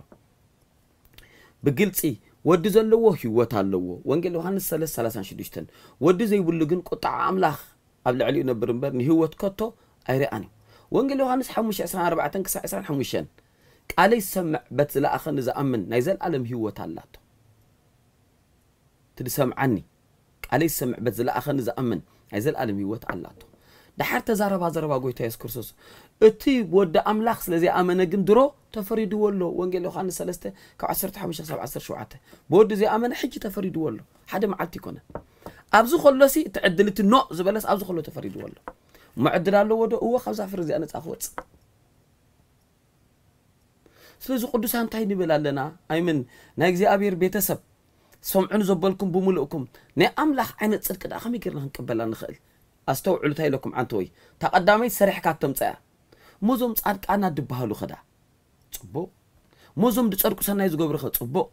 ብግልጺ ወዲ ዘለዎ ህይወት ኣለዎ። ወንጌል ዮሃንስ ሰለስተ ሰላሳን ሽዱሽተን ወዲ ዘይብሉ ግን ቁጣዓ ኣምላኽ ኣብ ልዕሊኡ ነብር እምበር ንህይወት ከቶ ኣይረኣን እዩ። ወንጌል ዮሃንስ ሓሙሽተ ዕስራን ኣርባዕተን ክሳዕ ዕስራን ሓሙሽተን ቃለይ ዝሰምዕ በት ዝለኣኸኒ ዝኣምን ናይ ዘለኣለም ህይወት ኣላቶ። እቲ ዝሰምዓኒ ቃለይ ዝሰምዕ በት ዝለኣኸኒ ዝኣምን ናይ ዘለኣለም ህይወት ኣላቶ። ድሓር ተዛረባ ዘረባ ጎይታ የሱስ ክርስቶስ እቲ ወዲ ኣምላኽ ስለ ዘይኣመነ ግን ድሮ ተፈሪድዎ ኣሎ። ወንጌል ዮሃንስ ሰለስተ ካብ ዓሰርተ ሓሙሽተ ክሳብ ዓሰርተ ሸውዓተ ብወዲ ዘይኣመነ ሕጂ ተፈሪድዎ ኣሎ። ሓደ መዓልቲ ይኮነ ኣብዚ ከሎሲ እቲ ዕድል እቲ ኖ ዝበለስ ኣብዚ ከሎ ተፈሪድዎ ኣሎ። እሞ ዕድል ኣለዎ ዶ? እዎ ካብዛ ፍሪ እዚኣ ነፃ ክወፅእ ስለዚ ቅዱሳን እንታይ ንብል ኣለና? ኣይምን ናይ እግዚኣብሔር ቤተሰብ ሰምዑን ዘበልኩም ብምልእኩም ናይ ኣምላኽ ዓይነት ጽድቂ ደኣ ከመይ ጌርና ክንቅበላ ንኽእል? ኣስተውዕሉ እንታይ ኢለኩም ዓንተወይ። እታ ቀዳመይቲ ሰሪሕካ እተምጽኣያ። ሞዞም ጻድቃና ድበሃሉ ኸዳ ጽቡቕ። ሞዞም ድጸድቁ ሰናይ ዝገብሩ ኸ ጽቡቕ።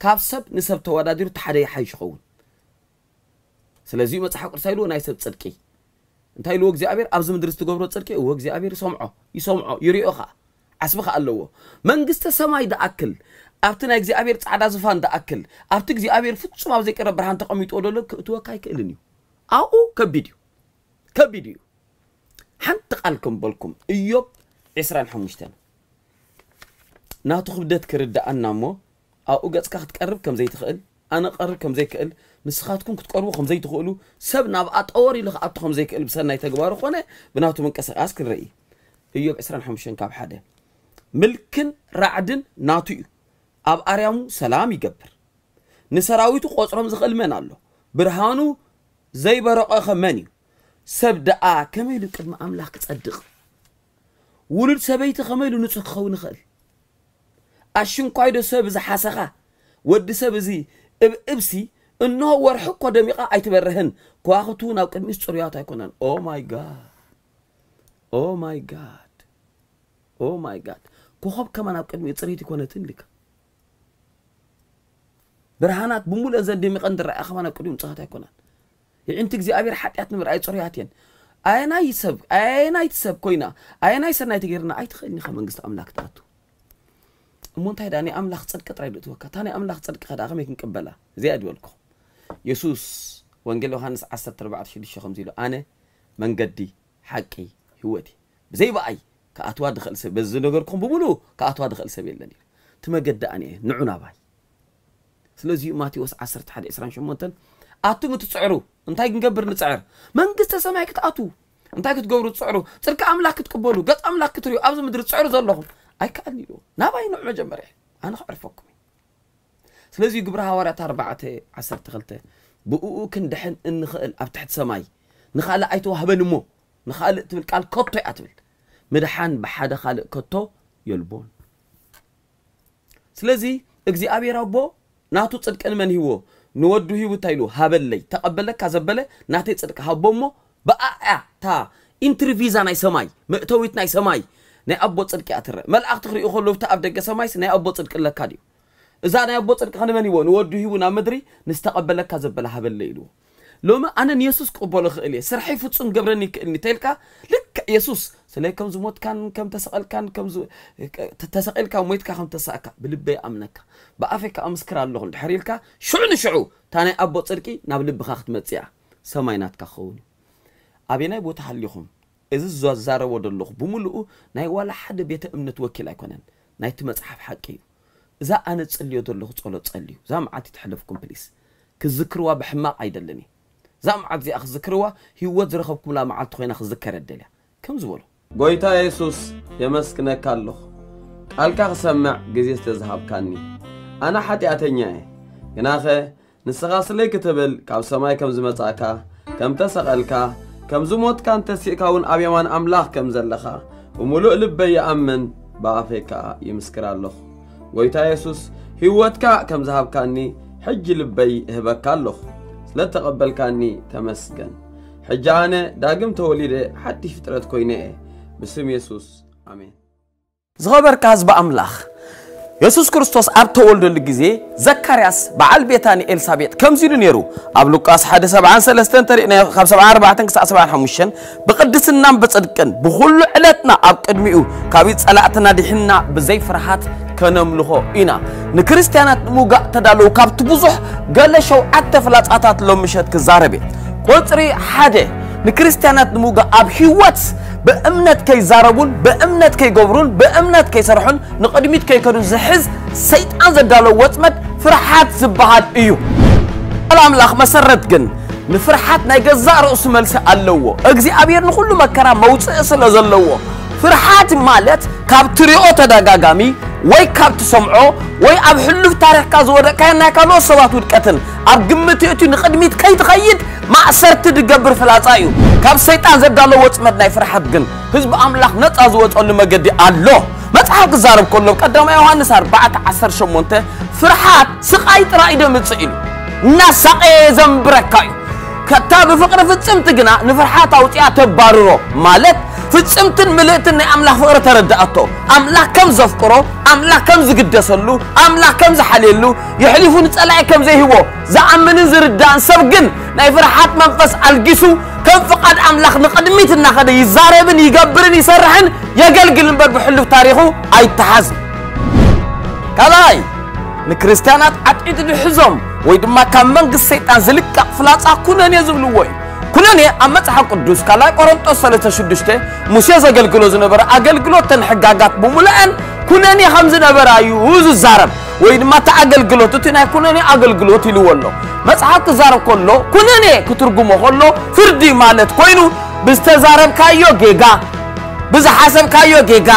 ካብ ሰብ ንሰብ ተወዳዲሩ እቲ ሓደ ይሓይሽ ይኸውን። ስለዚ መጽሓፍ ቅዱስ ኢልዎ ናይ ሰብ ጽድቂ እንታይ ኢልዎ እግዚኣብሔር ኣብዚ ምድሪ ዝትገብሮ ጽድቂ እዎ እግዚኣብሔር ይሰምዖ ይሰምዖ ይሪኦ ኸዓ ዓስቢ ኸዓ ኣለዎ። መንግስተ ሰማይ ደኣክል ኣብቲ ናይ እግዚኣብሔር ጻዕዳ ዝፋን ደኣክል ኣብቲ እግዚኣብሔር ፍጹም ኣብ ዘይቀረ ብርሃን ተቐሚጥዎ ዘሎ ክእትወካ ኣይክእልን እዩ። ኣብኡ ከቢድ እዩ ከቢድ እዩ። ሓንቲ ቃል ከም በልኩም እዮብ ዕስራን ሓሙሽተን ናቱ ክብደት ክርድኣና እሞ ኣብኡ ገጽካ ክትቀርብ ከም ዘይትኽእል ኣነ ክቐርብ ከም ዘይክእል ንስኻትኩም ክትቀርቡ ከም ዘይትኽእሉ ሰብ ናብ ኣጠወር ኢሉ ክኣቱ ከም ዘይክእል ብሰናይ ተግባሩ ኮነ ብናቱ ምንቅስቃስ ክንርኢ። እዮብ ዕስራን ሓሙሽተን ካብ ሓደ ምልክን ራዕድን ናቱ እዩ። ኣብ ኣርያሙ ሰላም ይገብር። ንሰራዊቱ ቆጽሮም ዝኽእል መን ኣሎ? ብርሃኑ ዘይበረቐኸ መን እዩ? ሰብ ደኣ ከመይ ኢሉ ቅድሚ ኣምላኽ ክጸድቕ? ውሉድ ሰበይቲ ከመይ ኢሉ ንጹህ ክኸውን ይኽእል? ኣሽንኳይዶ ሰብ ዝሓሰኻ ወዲ ሰብ እዚ እብእብሲ እንሆ ወርሒ እኮ ደሚቓ ኣይትበርህን ከዋኽብቲ እውን ኣብ ቅድሚኡስ ጽሩያት ኣይኮነን። ኦ ማይ ጋድ ኦ ማይ ጋድ ኦ ማይ ጋድ ኮኸብ ከማን ኣብ ቅድሚኡ ጽሬት ይኮነትን ኢልካ ብርሃናት ብምሉእን ዘን ደሚቐን ዝረኣያ ከማን ኣብ ቅድሚኡ ንጹሃት ኣይኮናን። ይዕንቲ እግዚኣብሔር ሓጢኣት ንምርኣይ ጽሩያት እየን። ኣየናይ ሰብ ኣየናይቲ ሰብ ኮይና ኣየናይ ሰናይ ተገይርና ኣይትኽእልን ኢኻ መንግስቲ ኣምላክ ትኣቱ። እሞ እንታይ ደኣ ናይ ኣምላኽ ጽድቂ ጥራይ ዶ እትወካ እታ ናይ ኣምላኽ ጽድቂ ከ ደኣ ከመይ ክንቅበላ? እዚኣ ድበልኩ። የሱስ ወንጌል ዮሃንስ ዓሰርተ ኣርባዕተ ሽዱሽተ ከምዚ ኢሉ፣ ኣነ መንገዲ፣ ሓቂ፣ ህይወት እየ። ብዘይ ብኣይ ክኣትዋ ድኽእል ሰብ፣ በዚ ነገርኩም ብምሉኡ ክኣትዋ ድኽእል ሰብ የለን ኢሉ። እቲ መገዲ ኣነ እየ፣ ንዑ ናባይ። ስለዚ እዩ ማቴዎስ ዓሰርተ ሓደ ዕስራን ሸሞንተን፣ ኣቱም እትጽዕሩ፣ እንታይ ክንገብር ንጽዕር? መንግስተ ሰማይ ክትኣትዉ እንታይ ክትገብሩ ትጽዕሩ? ጽድቂ ኣምላኽ ክትቅበሉ፣ ገጽ ኣምላኽ ክትርእዩ ኣብዚ ምድሪ ትጽዕሩ ዘለኹም፣ ኣይከኣልን ኢልዎ። ናባይ ንዑ መጀመርያ፣ ኣነ ከዕርፈኩም እየ። ስለዚ ግብሪ ሃዋርያት ኣርባዕተ ዓሰርተ ክልተ፣ ብእኡ ክንድሕን እንኽእል ኣብ ትሕቲ ሰማይ ንኻልእ ኣይተዋህበን እሞ፣ ንኻልእ ትብል ቃል ከቶ እያ ትብል። ምድሓን ብሓደ ካልእ ከቶ የልቦን። ስለዚ እግዚኣብሔር ኣቦ ናቱ ጽድቂ ንመን ሂብዎ? ንወዱ ሂቡ እንታይ ኢሉ? ሃበለይ። ተቐበለካ ዘበለ ናተይ ጽድቂ ሃቦ እሞ ብኣያ እታ ኢንትሪ ቪዛ ናይ ሰማይ፣ መእተዊት ናይ ሰማይ፣ ናይ ኣቦ ጽድቂ እያ ትረአ። መልኣኽቲ ክርእዩ ከለዉ ኣብቲ ኣብ ደገ ሰማይስ ናይ ኣቦ ጽድቂ ኣለካ ድዩ? እዛ ናይ ኣቦ ጽድቂ ከ ንመን ሂብዎ? ንወዱ ሂቡ ናብ ምድሪ ንዝተቐበለካ ዘበለ ሃበለይ ኢልዎ። ሎሚ ኣነ ንየሱስ ክቕበሎ እኽእል እየ፣ ስርሐይ ፍጹም ክገብረኒ ይክእልኒ ተኢልካ፣ ልክዕ የሱስ ስለይ ከም ዝሞትካን ከም ተሰቐልካን፣ ከም ዝ-፣ ተሰቒልካ ሞይትካ ከም ተሳእካ ብልበይ ኣምነካ፣ ብኣፈይ ከኣ ምስክር ኣለኹ እንድሕር ኢልካ፣ ሽዑ ንሽዑ እታ ናይ ኣቦ ጽድቂ ናብ ልብኻ ክትመጽእ እያ፣ ሰማይ ናትካ ክኸውን እዩ። ኣበየናይ ቦታ ሃሊኹም? እዚ ዝዛረቦ ዘለኹ ብምሉኡ ናይ ዋላ ሓደ ቤተ እምነት ወኪል ኣይኮነን፣ ናይቲ መጽሓፍ ሓቂ እዩ። እዛ ኣነ ዝጽልዮ ዘለኹ ጸሎት ጸልዩ። እዛ መዓልቲ ተሕለፍኩም ፕሊስ። ክዝክርዋ ብሕማቕ ኣይደልን እየ። እዛ መዓልቲ እዚኣ ክዝክርዋ ህይወት ዝረኸብኩምላ መዓልቲ ኮይና ክዝከር እደልያ። ከም ዝበሎ። ጎይታ የሱስ የመስግነካ ኣለኹ። ቃልካ ክሰምዕ ግዜ ስለ ዝሃብካኒ። ኣነ ሓጢኣተኛ እየ። ግናኸ ንስኻ ስለይ ክትብል ካብ ሰማይ ከም ዝመጻእካ፣ ከም ተሰቐልካ፣ ከም ዝሞትካን ተሲእካ እውን ኣብ የማን ኣምላኽ ከም ዘለኻ ብምሉእ ልበይ ይኣምን፣ ብኣፈይ ከኣ ይምስክር ኣለኹ። ጎይታ የሱስ፣ ህይወትካ ከም ዝሃብካኒ ሕጂ ልበይ እህበካ ኣለኹ። ስለ እተቐበልካኒ ተመስገን። ሕጂ ኣነ ዳግም ተወሊደ ሓድሽ ፍጥረት ኮይነ እየ። ብስም የሱስ፣ ኣሜን። ዝኸበርካ ህዝቢ ኣምላኽ፣ የሱስ ክርስቶስ ኣብ ተወልደሉ ግዜ ዘካርያስ በዓል ቤታን ኤልሳቤጥ ከምዚ ኢሉ ነይሩ። ኣብ ሉቃስ ሓደ ሰብዓን ሰለስተን ተሪእና ካብ ሰብዓን ኣርባዕተን ክሳዕ ሰብዓን ሓሙሽተን፣ ብቕድስናን ብጽድቅን ብኹሉ ዕለትና ኣብ ቅድሚኡ ካብ ጸላእትና ድሒንና ብዘይ ፍርሃት ከነምልኾ ኢና። ንክርስትያናት ንምውጋእ ተዳለዉ ካብቲ ብዙሕ ገለ ሸውዓተ ፍላጻታት ሎም ምሸት ክዛረብ እየ። ቁጽሪ ሓደ፣ ንክርስትያናት ንምውጋእ ኣብ ህይወት ብእምነት ከይዛረቡን ብእምነት ከይገብሩን ብእምነት ከይሰርሑን ንቕድሚት ከይከዱን ዝሕዝ ሰይጣን ዘዳለዎ ወጽመድ ፍርሓት ዝበሃል እዩ። ቃል ኣምላኽ መሰረት ግን ንፍርሓት ናይ ገዛእ ርእሱ መልሲ ኣለዎ። እግዚኣብሔር ንኹሉ መከራ መውጽኢ ስለ ዘለዎ፣ ፍርሓት ማለት ካብ ትሪኦ ተደጋጋሚ ወይ ካብ ትሰምዖ ወይ ኣብ ሕሉፍ ታሪኽካ ዝወደቅካዮ ናይ ካልኦት ሰባት ውድቀትን ኣብ ግምት የእትዩ ንቕድሚት ከይትኸይድ ማእሰርቲ ዝገብር ፍላጻ እዩ። ካብ ሰይጣን ዘዳለዎ ወጽመድ ናይ ፍርሓት ግን ህዝቢ ኣምላኽ ነጻ ዝወጸሉ መገዲ ኣሎ። መጽሓፍ ክዛረብ ከሎ ቀዳማይ ዮሃንስ ኣርባዕተ ዓሰርተ ሸሞንተ፣ ፍርሓት ስቓይ ጥራይ እዩ ዘምጽእ ኢሉ። እናሳቐየ የዘንብረካ እዩ። ከታ ብፍቕሪ ፍጽምቲ ግና ንፍርሓት ኣውጺኣ ተባርሮ፣ ማለት ፍጽምትን ምልእትን ናይ ኣምላኽ ፍቕሪ ተረድኣቶ። ኣምላኽ ከም ዘፍቅሮ፣ ኣምላኽ ከም ዝግደሰሉ፣ ኣምላኽ ከም ዝሓልየሉ፣ የሕሊፉ ንጸላኢ ከም ዘይህቦ ዝኣምንን ዝርዳእን ሰብ ግን ናይ ፍርሓት መንፈስ ኣልጊሱ ከም ፍቓድ ኣምላኽ ንቕድሚት እናኸደ ይዛረብን ይገብርን ይሰርሕን የገልግል እምበር ብሕሉፍ ታሪኹ ኣይተሓዝን። ካልኣይ፣ ንክርስትያናት ዓጢጡ ዝሕዞም ወይ ድማ ካብ መንግስቲ ሰይጣን ዝልቀቕ ፍላጻ ኩነኔ ዝብልዎ እዩ። ኩነኔ ኣብ መጽሓፍ ቅዱስ ካልኣይ ቆሮንጦስ ሰለስተ ሽዱሽተ ሙሴ ዘገልግሎ ዝነበረ ኣገልግሎት ተን ሕጋጋት ብምሉአን ኩነኔ ከም ዝነበራ እዩ ዝዛረብ። ወይ ድማ እቲ ኣገልግሎት፣ እቲ ናይ ኩነኔ ኣገልግሎት ኢልዎ ኣሎ። መጽሓፍ ክዛረብ ከሎ ኩነኔ ክትርጉሞ ከሎ ፍርዲ ማለት ኮይኑ ብዝተዛረብካዮ ጌጋ፣ ብዝሓሰብካዮ ጌጋ፣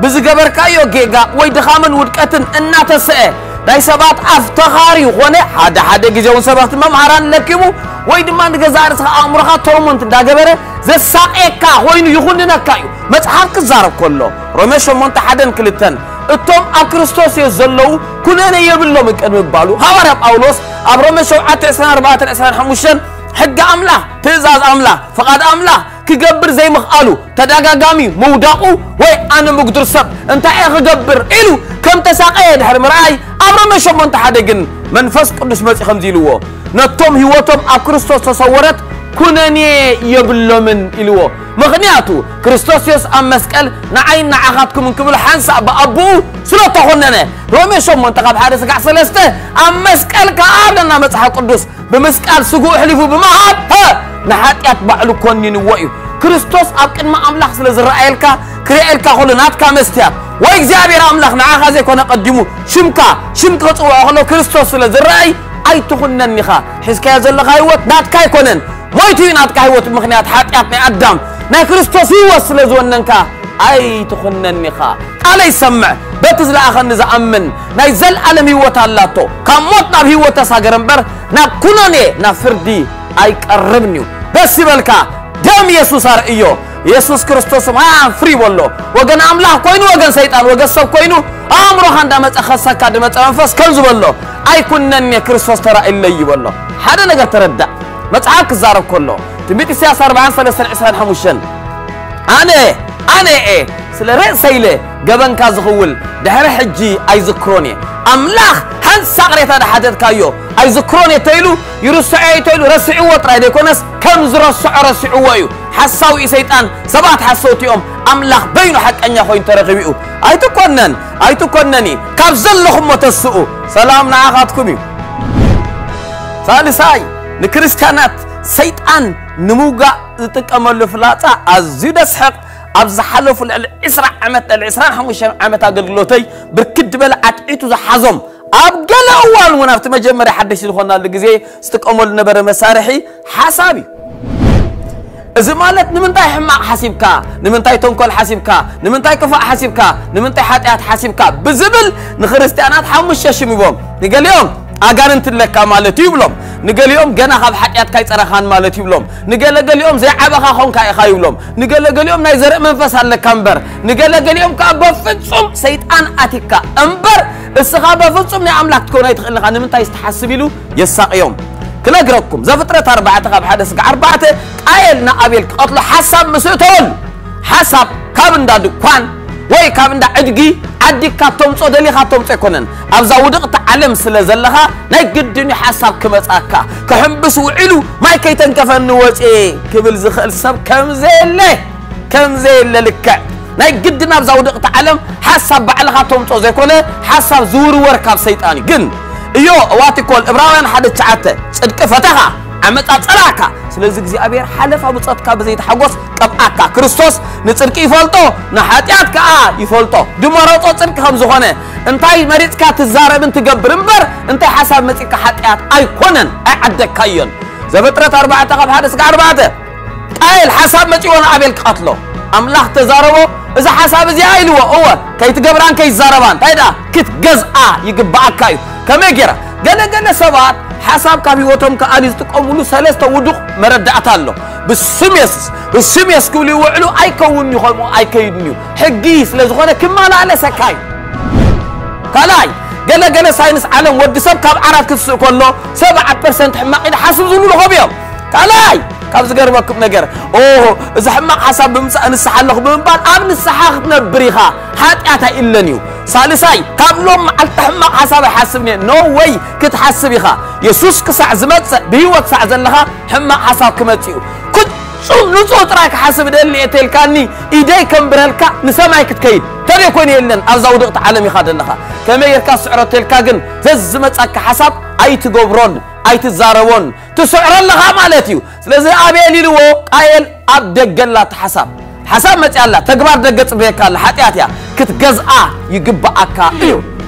ብዝገበርካዮ ጌጋ ወይ ድኻምን ውድቀትን እናተስአ ናይ ሰባት ኣፍተኻሪ ኾነ ሓደ ሓደ ግዜ እውን ሰበኽቲ መምሃራን ለኪሙ ወይ ድማ ንገዛእ ርእስኻ ኣእምሮኻ ቶርሞንት እንዳገበረ ዘሳቕየካ ኮይኑ ይኹንነካ እዩ። መጽሓፍ ክዛረብ ከሎ ሮሜ ሸሞንተ ሓደን ክልተን እቶም ኣብ ክርስቶስ የስ ዘለዉ ኩነኔ የብሎምን ቅድሚ ምባሉ ሃዋርያ ጳውሎስ ኣብ ሮሜ ሸውዓተ ዕስራን ኣርባዕተን ዕስራን ሓሙሽተን ሕጊ ኣምላኽ፣ ትእዛዝ ኣምላኽ፣ ፍቓድ ኣምላኽ ክገብር ዘይምኽኣሉ፣ ተደጋጋሚ ምውዳቑ ወይ ኣነ ምጉድር ሰብ እንታይ እየ ክገብር ኢሉ ከም ተሳቐየ ድሕሪ ምርኣይ ኣብ ሮሜ ሸሞንተ ሓደ ግን መንፈስ ቅዱስ መጺኡ ከምዚ ኢልዎ፣ ነቶም ህይወቶም ኣብ ክርስቶስ ተሰወረት ኩነኔ የብሎምን ኢልዎ። ምኽንያቱ ክርስቶስ የሱስ ኣብ መስቀል ንዓይን ንዓኻትኩምን ክብል ሓንሳእ ብኣቦኡ ስለ ተኾነነ። ሮሜ ሸሞንተ ካብ ሓደ ስጋዕ ሰለስተ ኣብ መስቀል ከኣ ኣለና መጽሓፍ ቅዱስ ብምስቃል ስግኡ ኣሕሊፉ ብምሃብ፣ ሀ፣ ንሓጢኣት ባዕሉ ኮኒንዎ እዩ። ክርስቶስ ኣብ ቅድሚ ኣምላኽ ስለ ዝረኣየልካ፣ ክርእየልካ ከሎ ናትካ መስትያት ወይ እግዚኣብሔር ኣምላኽ ንዓኻ ዘይኮነ ቀዲሙ ሽምካ፣ ሽም ክጽውዖ ከሎ ክርስቶስ ስለ ዝረኣይ ኣይትኹነን ኢኻ። ሒዝካዮ ዘለኻ ህይወት ናትካ ኣይኮነን። ሞይቱ እዩ ናትካ ህይወት ምኽንያት ሓጢኣት ናይ ኣዳም። ናይ ክርስቶስ ህይወት ስለ ዝወነንካ ኣይትኹነን ኢኻ። ቃለይ ሰምዕ፣ በቲ ዝለኣኸኒ ዝኣምን ናይ ዘልኣለም ህይወት ኣላቶ። ካብ ሞት ናብ ህይወት ተሳገረ እምበር ናብ ኩነኔ ናብ ፍርዲ ኣይቀርብን እዩ። ደስ ይበልካ፣ ደም የሱስ ኣርእዮ። የሱስ ክርስቶስ ማይ ኣፍሪ በሎ። ወገን ኣምላኽ ኮይኑ ወገን ሰይጣን ወገን ሰብ ኮይኑ ኣእምሮኻ እንዳመጸ ኸሰካ ድመጸ መንፈስ ከም ዝበሎ ኣይኩነኔ ክርስቶስ ተራእለይ ይበሎ። ሓደ ነገር ተረዳእ። መጽሓፍ ክዛረብ ከሎ ትንቢት ኢሳያስ ኣርባዓን ሰለስተን ዕስራን ሓሙሽተን ኣነ ኣነ እየ ስለ ርእሰይ ኢለ ገበንካ ዝኽውል ድሕሪ ሕጂ ኣይዝክሮን እየ። ኣምላኽ ሓንሳእ ቅሬታ ድሓተትካዮ ኣይዝክሮን እየ ተይሉ ይርስዖ እየ ተይሉ ረሲዕዎ ጥራይ ዘይኮነስ ከም ዝረስዖ ረሲዕዎ እዩ። ሓሳዊ እዩ ሰይጣን፣ ሰባት ሓሰውቲ እዮም፣ ኣምላኽ በይኑ ሓቀኛ ኮይኑ ተረኺቡ እዩ። ኣይትኮነን ኣይትኮነኒ ካብ ዘለኹሞ ተስኡ ሰላም ንዓኻትኩም እዩ። ሳልሳይ ንክርስትያናት ሰይጣን ንምውጋእ ዝጥቀመሉ ፍላጻ ኣዝዩ ደስሕቕ። ኣብ ዝሓለፉ ልዕሊ ዕስራ ዓመት ልዕሊ ዕስራን ሓሙሽተን ዓመት ኣገልግሎተይ ብርክት ዝበለ ዓትዒቱ ዝሓዞም ኣብ ገለ እዋን እውን ኣብቲ መጀመርያ ሓደሽቲ ዝኾናሉ ግዜ ዝጥቀመሉ ነበረ መሳርሒ ሓሳብ እዩ። እዚ ማለት ንምንታይ ሕማቕ ሓሲብካ፣ ንምንታይ ተንኮል ሓሲብካ፣ ንምንታይ ክፋእ ሓሲብካ፣ ንምንታይ ሓጢኣት ሓሲብካ ብዝብል ንክርስትያናት ሓሙሽተ ሽም ይቦም። ንገሊኦም ኣጋንንት ኣለካ ማለት እዩ ይብሎም። ንገሊኦም ገና ካብ ሓጢኣትካ ኣይጸረኻን ማለት ይብሎም። ንገለገሊኦም ዘይዓበኻ ኾንካ ኢኻ ይብሎም። ንገለገሊኦም ናይ ዘርኢ መንፈስ ኣለካ እምበር። ንገለገሊኦም ከኣ በፍጹም ሰይጣን ኣቲካ እምበር እስኻ በፍጹም ናይ ኣምላኽ ክትከውን ኣይትኽእልን ኢኻ። ንምንታይ ትሓስብ ኢሉ የሳቕዮም። ክነግረኩም ዘፍጥረት ኣርባዕተ ካብ ሓደ ስጋዕ ኣርባዕተ ቃየል ንኣቤል ክቐትሎ ሓሳብ ምስ እተወሉ ሓሳብ ካብ እንዳ ድኳን ወይ ካብ እንዳ ዕድጊ ዓዲግካ ተምጾ ደሊኻ ተምጾ ኣይኮነን። ኣብዛ ውድቕቲ ዓለም ስለ ዘለኻ ናይ ግድን እዩ ሓሳብ ክመጻካ። ክሕምብስ ውዒሉ ማይ ከይተንከፈኒ ወጽኤ ክብል ዝኽእል ሰብ ከም ዘየለ ከም ዘየለ ልክዕ ናይ ግድን ኣብዛ ውድቕቲ ዓለም ሓሳብ ባዕልኻ ተምጾ ዘይኮነ ሓሳብ ዝውርወር ካብ ሰይጣን እዩ። ግን እዮ እዋቲኮል እብራውያን ሓደ ትሽዓተ ጽድቂ ፈተኻ ዓመጻ ጸላእካ። ስለዚ እግዚኣብሔር ሓለፋ ብጾትካ ብዘይተሓጎስ ቀብኣካ። ክርስቶስ ንጽድቂ ይፈልጦ ንሓጢኣት ከኣ ይፈልጦ። ድመረጾ ጽድቂ ከም ዝኾነ እንታይ መሪጽካ ትዛረብን ትገብር እምበር እንታይ ሓሳብ መጺካ ሓጢኣት ኣይኮነን ኣይዓደግካዮን። ዘፍጥረት ኣርባዕተ ካብ ሓደ ስጋ ኣርባዕተ ቃየል ሓሳብ መጺዎ ንኣቤል ክቐትሎ ኣምላኽ ተዛረቦ። እዚ ሓሳብ እዚኣ ኢልዎ እወ ከይትገብራን ከይትዛረባን እንታይ ደኣ ክትገዝኣ ይግብኣካ እዩ። ከመይ ገይራ ገለ ገለ ሰባት ሓሳብ ካብ ህይወቶም ክኣሊ ዝጥቀምሉ ሰለስተ ውዱቕ መረዳእታ ኣሎ። ብስም የሱስ ብስም የሱስ ክብሉ ይውዕሉ ኣይከውንን እዩ ከምኡ ኣይከይድን እዩ። ሕጊ ስለ ዝኾነ ክመላለሰካ እዩ። ካልኣይ ገለ ገለ ሳይንስ ዓለም ወዲ ሰብ ካብ ዓራት ክትስእ ከሎ ሰብዓ ፐርሰንት ሕማቕ ኢሉ ሓስብ ዝብሉ ረኸቡ እዮም። ካልኣይ ካብ ዝገርመኩም ነገር ኦ እዚ ሕማቕ ሓሳብ ብምምፃእ ንስሓ ኣለኹ ብምባል ኣብ ንስሓ ክትነብር ኢኻ። ሓጢኣት ኣይእለን እዩ። ሳልሳይ ካብ ሎም መዓልቲ ሕማቕ ሓሳብ ኣይሓስብን እየ። ኖ ወይ ክትሓስብ ኢኻ። የሱስ ክሳዕ ዝመፅእ ብህይወት ሳዕ ዘለኻ ሕማቕ ሓሳብ ክመፅእ እዩ። ፍጹም ንጹህ ጥራይ ክሓስብ እደሊ እየ ተልካኒ ኢደይ ከንብረልካ ንሰማይ ክትከይድ ተደይ ኮነ የለን ኣብዛ ውድቕቲ ዓለም ኢኻ ዘለኻ። ከመይ ጌርካ ስዕሮ ተልካ ግን ዘዝመጻካ ሓሳብ ኣይትገብሮን ኣይትዛረቦን ትስዕሮ ኣለኻ ማለት እዩ። ስለዚ ኣቤል ኢልዎ ቃየል ኣብ ደገ ኣላ እቲ ሓሳብ ሓሳብ መጽያ ኣላ ተግባር ደገ ጽበየካ ኣላ ሓጢኣት እያ ክትገዝኣ ይግብኣካ እዩ።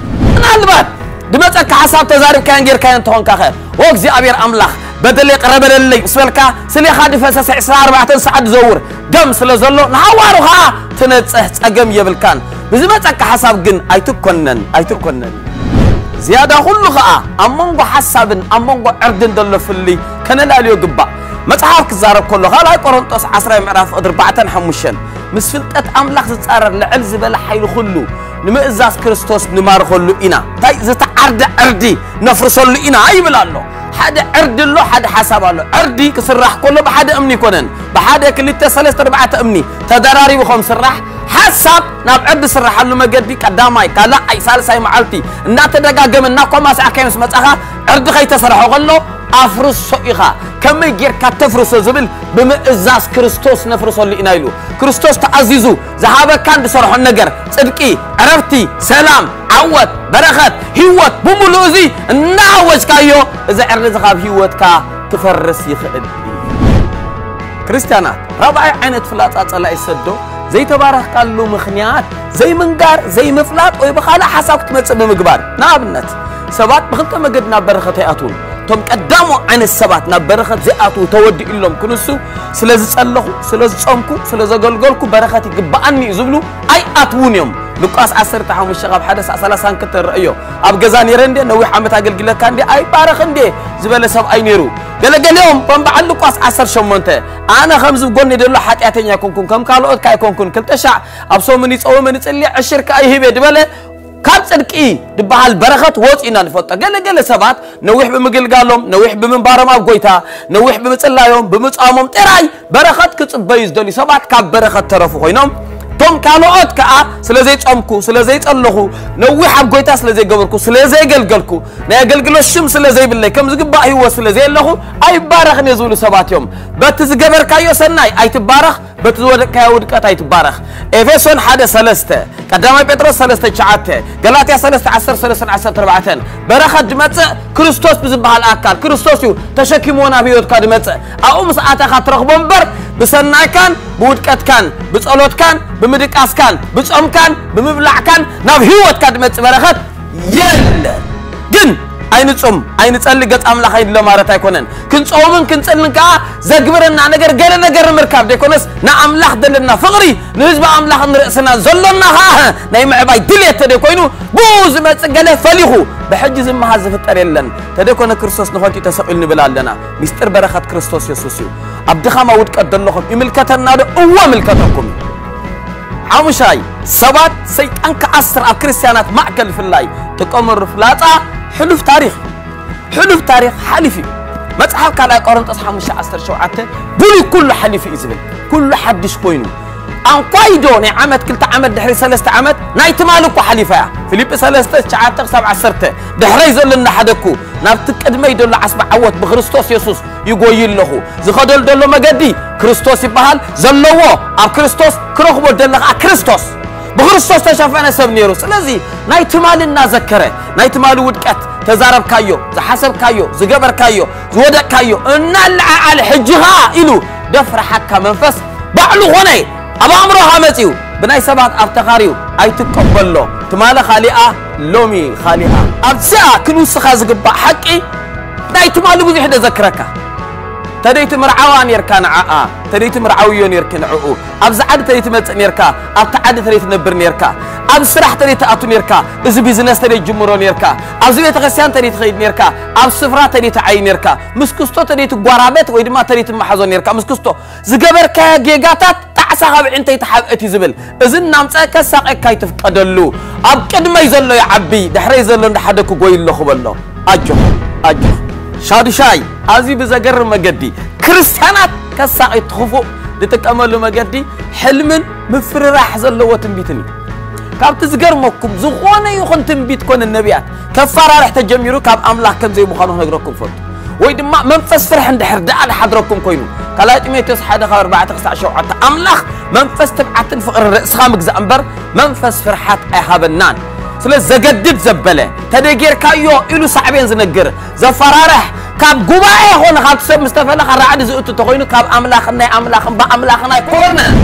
ምናልባት ድመጸካ ሓሳብ ተዛሪብካዮን ጌርካዮን እንተኾንካ ኸ ኦ እግዚኣብሔር ኣምላኽ በደለይ ቅረ በለለይ ምስ በልካ ስሌኻ ድፈሰሰ ዕስራ ኣርባዕተ ሰዓት ዝዘውር ደም ስለ ዘሎ ንሃዋሩ ኸዓ ትነጽህ ጸገም የብልካን። ብዝመጸካ ሓሳብ ግን ኣይትኮነን ኣይትኮነን። ዝያዳ ኩሉ ኸዓ ኣብ መንጎ ሓሳብን ኣብ መንጎ ዕርድን ዘሎ ፍልይ ከነላልዮ ግባእ። መጽሓፍ ክዛረብ ከሎ ካልኣይ ቆሮንጦስ ዓስራይ ምዕራፍ ፍቕዲ ኣርባዕተን ሓሙሽተን ምስ ፍልጠት ኣምላኽ ዝጻረር ልዕል ዝበለ ሓይሊ ኩሉ ንምእዛዝ ክርስቶስ ንማርኸሉ ኢና። እንታይ ዝተዓርደ ዕርዲ ነፍርሰሉ ኢና ይብል ኣሎ። ሓደ ዕርዲ ኣሎ፣ ሓደ ሓሳብ ኣሎ። ዕርዲ ክስራሕ ከሎ ብሓደ እምኒ ይኮነን፣ ብሓደ ክልተ ሰለስተ ኣርባዕተ እምኒ ተደራሪቡ ከም ስራሕ ሓሳብ ናብ ዕርዲ ስራሓሉ መገዲ ቀዳማይ ካልኣይ ሳልሳይ መዓልቲ እናተደጋገመ እናኮማሳዕካዮ ምስ መጻኻ ዕርዲ ከይተሰርሐ ከሎ ኣፍርሶ ኢኻ። ከመይ ጌርካ ተፍርሶ ዝብል ብምእዛዝ ክርስቶስ ነፍርሰሉ ኢና ኢሉ። ክርስቶስ ተኣዚዙ ዝሃበካን ዝሰርሖን ነገር፣ ጽድቂ፣ ዕረፍቲ፣ ሰላም፣ ዓወት፣ በረኸት፣ ህይወት ብምሉእ እዚ እናኣወጅካዮ፣ እዚ ዕርዲ እዚ ካብ ህይወትካ ክፈርስ ይኽእል እዩ። ክርስትያናት፣ ራብዓይ ዓይነት ፍላጻ ጸላኢ ዝሰዶ ዘይተባረኽካሉ ምኽንያት ዘይምንጋር፣ ዘይምፍላጥ ወይ ብኻልእ ሓሳብ ክትመጽእ ብምግባር። ንኣብነት፣ ሰባት ብኽልተ መገዲ ናብ በረኸት ኣይኣትዉን። እቶም ቀዳሞ ዓይነት ሰባት ናብ በረኸት ዘይኣትዉ ተወዲኡሎም ክንሱ፣ ስለ ዝጸለኹ፣ ስለ ዝጾምኩ፣ ስለ ዘገልገልኩ በረኸት ይግብኣኒ እዩ ዝብሉ ኣይኣትዉን እዮም። ሉቃስ ዓሰርተ ሓሙሽተ ካብ ሓደ ሳዕ ሰላሳ ክልተ ንርእዮ። ኣብ ገዛ ነይረ እንዴ፣ ነዊሕ ዓመት ኣገልግለካ እንዴ፣ ኣይባረኽ እንዴ ዝበለ ሰብኣይ ነይሩ። ገለገሊኦም ከም በዓል ሉቃስ ዓሰርተ ሸሞንተ፣ ኣነ ከምዚ ጎኒ ዘሎ ሓጢኣተኛ ኣይኮንኩን፣ ከም ካልኦት ከ ኣይኮንኩን፣ ክልተ ሻዕ ኣብ ሰሙን ይጸውምን ይጽሊ፣ ዕሽር ከኣ ይህብ እየ ዝበለ፣ ካብ ጽድቂ ዝበሃል በረኸት ወጺኡ ኢና ንፈልጦ። ገለገለ ሰባት ነዊሕ ብምግልጋሎም፣ ነዊሕ ብምንባሮም ኣብ ጎይታ፣ ነዊሕ ብምጽላዮም፣ ብምጻሞም ጥራይ በረኸት ክጽበዩ ዝደልዩ ሰባት ካብ በረኸት ተረፉ ኮይኖም፣ እቶም ካልኦት ከኣ ስለ ዘይጸምኩ፣ ስለ ዘይጸለኹ፣ ነዊሕ ኣብ ጎይታ ስለ ዘይገበርኩ፣ ስለ ዘይገልገልኩ፣ ናይ ኣገልግሎት ሽም ስለ ዘይብለይ፣ ከም ዝግባእ ህይወት ስለ ዘየለኹ ኣይባረኽን እየ ዝብሉ ሰባት እዮም። በቲ ዝገበርካዮ ሰናይ ኣይትባረኽ፣ በቲ ዝወደቅካዮ ውድቀት ኣይትባረኽ። ኤፌሶን ሓደ ሰለስተ፣ ቀዳማይ ጴጥሮስ ሰለስተ ትሽዓተ፣ ገላትያ ሰለስተ ዓሰርተ ሰለስተ ዓሰርተ ኣርባዕተ፣ በረኸት ዝመጽእ ክርስቶስ ብዝበሃል ኣካል፣ ክርስቶስ እዩ ተሸኪምዎ ናብ ህይወትካ ዝመጽእ። ኣብኡ ምስ ኣተኻ ትረኽቦ እምበር፣ ብሰናይካን ብውድቀትካን፣ ብጸሎትካን ብምድቃስካን፣ ብጾምካን ብምብላዕካን ናብ ህይወትካ ዝመጽእ በረኸት የለ። ግን ኣይንጹም፣ ኣይንጸሊ፣ ገጽ ኣምላኽ ኣይንለ ማለት ኣይኮነን። ክንጸውምን ክንጽልን ከኣ ዘግብረና ነገር ገለ ነገር ንምርካብ ዘይኮነስ፣ ንኣምላኽ ዘለና ፍቕሪ፣ ንህዝቢ ኣምላኽን ንርእስና ዘሎና ከኣ ናይ ምዕባይ ድሌት ተደይኮይኑ፣ ብኡ ዝመጽእ ገለ ፈሊኹ ብሕጂ ዝመሃዝ ዝፍጠር የለን። ተደይኮነ ክርስቶስ ንኸንቱ ተሰቒሉ ንብል ኣለና። ሚስጥር በረኸት ክርስቶስ የሱስ እዩ። ኣብ ድኻማ ውድቀት ዘለኹም ይምልከተና ዶ? እወ፣ ምልከተኩም እዩ። ሓሙሻይ፣ ሰባት ሰይጣን ክኣስር ኣብ ክርስትያናት ማእከል ፍላይ ጥቀመሉ ፍላጻ ሕሉፍ ታሪኽ እዩ። ሕሉፍ ታሪኽ ሓሊፉ እዩ። መጽሓፍ ካልኣይ ቆሮንጦስ ሓሙሽተ ዓሰርተ ሸውዓተ፣ ብሉይ ኩሉ ሓሊፉ እዩ ዝብል። ኩሉ ሓድሽ ኮይኑ። ኣንኳይዶ ናይ ዓመት፣ ክልተ ዓመት፣ ድሕሪ ሰለስተ ዓመት ናይ ትማሊ እኮ ሓሊፋ እያ። ፊልጲ ሰለስተ ትሽዓተ ክሳብ ዓሰርተ፣ ድሕረይ ዘሎ እናሓደግኩ ናብቲ ቅድመይ ዘሎ ዓስቢ ዓወት ብክርስቶስ የሱስ ይጎዩ ኣለኹ። ዝኸደሉ ዘሎ መገዲ ክርስቶስ ይበሃል። ዘለዎ ኣብ ክርስቶስ፣ ክረኽቦ ደለ ኸዓ ክርስቶስ። ብክርስቶስ ተሸፈነ ሰብ ነይሩ። ስለዚ ናይ ትማሊ እናዘከረ፣ ናይ ትማሊ ውድቀት፣ ተዛረብካዮ፣ ዝሓሰብካዮ፣ ዝገበርካዮ፣ ዝወደቅካዮ እናለዓዓለ፣ ሕጂ ኸዓ ኢሉ ደፍረሓካ መንፈስ ባዕሉ ኾነ። ኣብ ኣእምሮኻ መጺኡ፣ ብናይ ሰባት ኣብ ተኻርዩ ኣይትቀበሎ። ትማሊ ካሊኣ፣ ሎሚ ካሊኣ። ኣብዚኣ ክንውስኻ ዝግባእ ሓቂ፣ ናይ ትማሊ ብዙሕ ደዘክረካ። ተደይ ትምርዓዋ ኔርካ ንዓኣ፣ ተደይ ትምርዓውዮ ኔርኪ ንዕኡ። ኣብዚ ዓዲ ተደይ ትመጽእ ኔርካ፣ ኣብቲ ዓዲ ተደይ ትነብር ኔርካ። ኣብ ስራሕ ተደይ ትኣቱ ኔርካ፣ እዚ ቢዝነስ ተደይ ትጅምሮ ኔርካ። ኣብዚ ቤተክርስትያን ተደይ ትኸይድ ኔርካ፣ ኣብ ስፍራ ተደይ ትዓይ ኔርካ። ምስ ክስቶ ተደይ ትጓራበት ወይ ድማ ተደይ ትመሓዞ ኔርካ። ምስ ክስቶ ዝገበርካዮ ጌጋታት ጣዕሳ ካብ ዕንተይ ተሓብእት እዩ ዝብል። እዚ እናምጸአ ከሳቐካ ኣይትፍቀደሉ። ኣብ ቅድመይ ዘሎ ይዓቢ፣ ድሕረይ ዘሎ እንዳሓደግኩ ጎይ ኣለኹ በሎ። ኣጆኽ፣ ኣጆኽ። ሻዱሻይ፣ ኣዝዩ ብዘገርም መገዲ ክርስትያናት ከሳቒ እቲ ክፉእ ዝጥቀመሉ መገዲ ሕልምን ምፍርራሕ ዘለዎ ትንቢትን እዩ። ካብቲ ዝገርመኩም፣ ዝኾነ ይኹን ትንቢት ኮነ ነቢያት ከፈራርሕ ተጀሚሩ ካብ ኣምላኽ ከም ዘይምዃኑ ክነግረኩም እፈቱ። ወይ ድማ መንፈስ ፍርሒ እንድሕር ደኣ ዝሓድረኩም ኮይኑ፣ ካልኣይ ጢሞቴዎስ ሓደ ካብ ኣርባዕተ ክሳዕ ሸውዓተ፣ ኣምላኽ መንፈስ ትብዓትን ፍቕርን ርእስኻ ምግዛእ እምበር መንፈስ ፍርሓት ኣይሃበናን። ስለ ዘገድድ ዘበለ፣ ተደይ ጌርካዮ ኢሉ ሳዕቤን ዝነግር፣ ዘፈራርሕ፣ ካብ ጉባኤ ኾነ ካብ ሰብ ምስ ተፈለኻ ራዕዲ ዝእቱ ተኾይኑ፣ ካብ ኣምላኽን ናይ ኣምላኽን ብኣምላኽን ኣይኮነን።